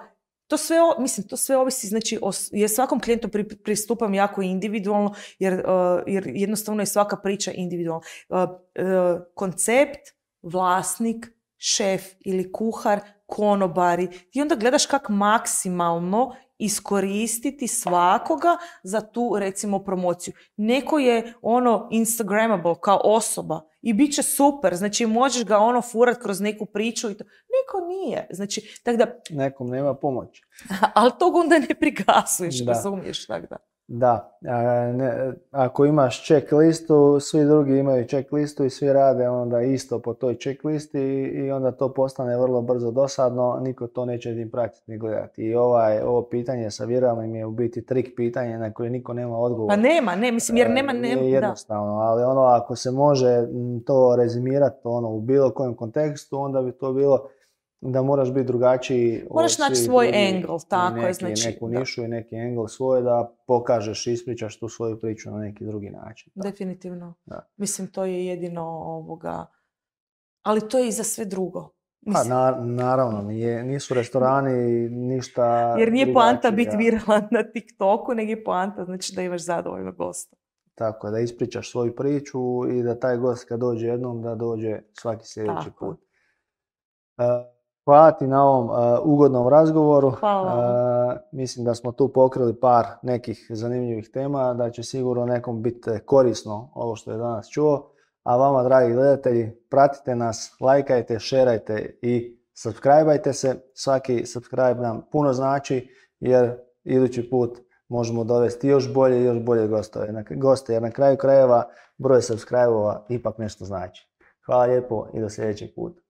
To sve, mislim, to sve ovisi, znači, o, jer svakom klijentu pri, pristupam jako individualno, jer, uh, jer jednostavno je svaka priča individualna. Uh, uh, koncept, vlasnik, šef ili kuhar konobari. Ti onda gledaš kako maksimalno iskoristiti svakoga za tu, recimo, promociju. Neko je ono instagramable kao osoba i bit će super, znači možeš ga ono furat kroz neku priču i to. Neko nije. Znači, tak da... Nekom nema pomoći. Ali tog onda ne prigasuješ, Da. razumiješ, tak da. Da, a, ne, ako imaš check listu, svi drugi imaju check listu i svi rade onda isto po toj check listi i, i onda to postane vrlo brzo dosadno, niko to neće ni pratiti ni gledati. I ovaj, ovo pitanje sa viralnim je u biti trik pitanje na koje niko nema odgovor. Pa nema, ne, mislim, jer nema, nema, je jednostavno, da. Ali ono, ako se može to rezimirati ono, u bilo kojem kontekstu, onda bi to bilo da moraš biti drugačiji. Moraš naći svoj angle, tako neki, je, znači. Neku nišu i neki angle svoj da pokažeš, ispričaš tu svoju priču na neki drugi način. Da. Definitivno. Da. Mislim, to je jedino ovoga... Ali to je i za sve drugo. Mislim. Pa na, naravno, nije, nisu restorani ništa... Jer nije poanta biti viralan na TikToku, nego je poanta, znači da imaš zadovoljno gosta. Tako, da ispričaš svoju priču i da taj gost kad dođe jednom, da dođe svaki sljedeći tako. put. Uh, Hvala ti na ovom uh, ugodnom razgovoru. Hvala. Uh, mislim da smo tu pokrili par nekih zanimljivih tema, da će sigurno nekom biti korisno ovo što je danas čuo. A vama, dragi gledatelji, pratite nas, lajkajte, šerajte i subscribeajte se. Svaki subscribe nam puno znači jer idući put možemo dovesti još bolje i još bolje gostove. Goste, jer na kraju krajeva broj subscribe-ova ipak nešto znači. Hvala lijepo i do sljedećeg puta.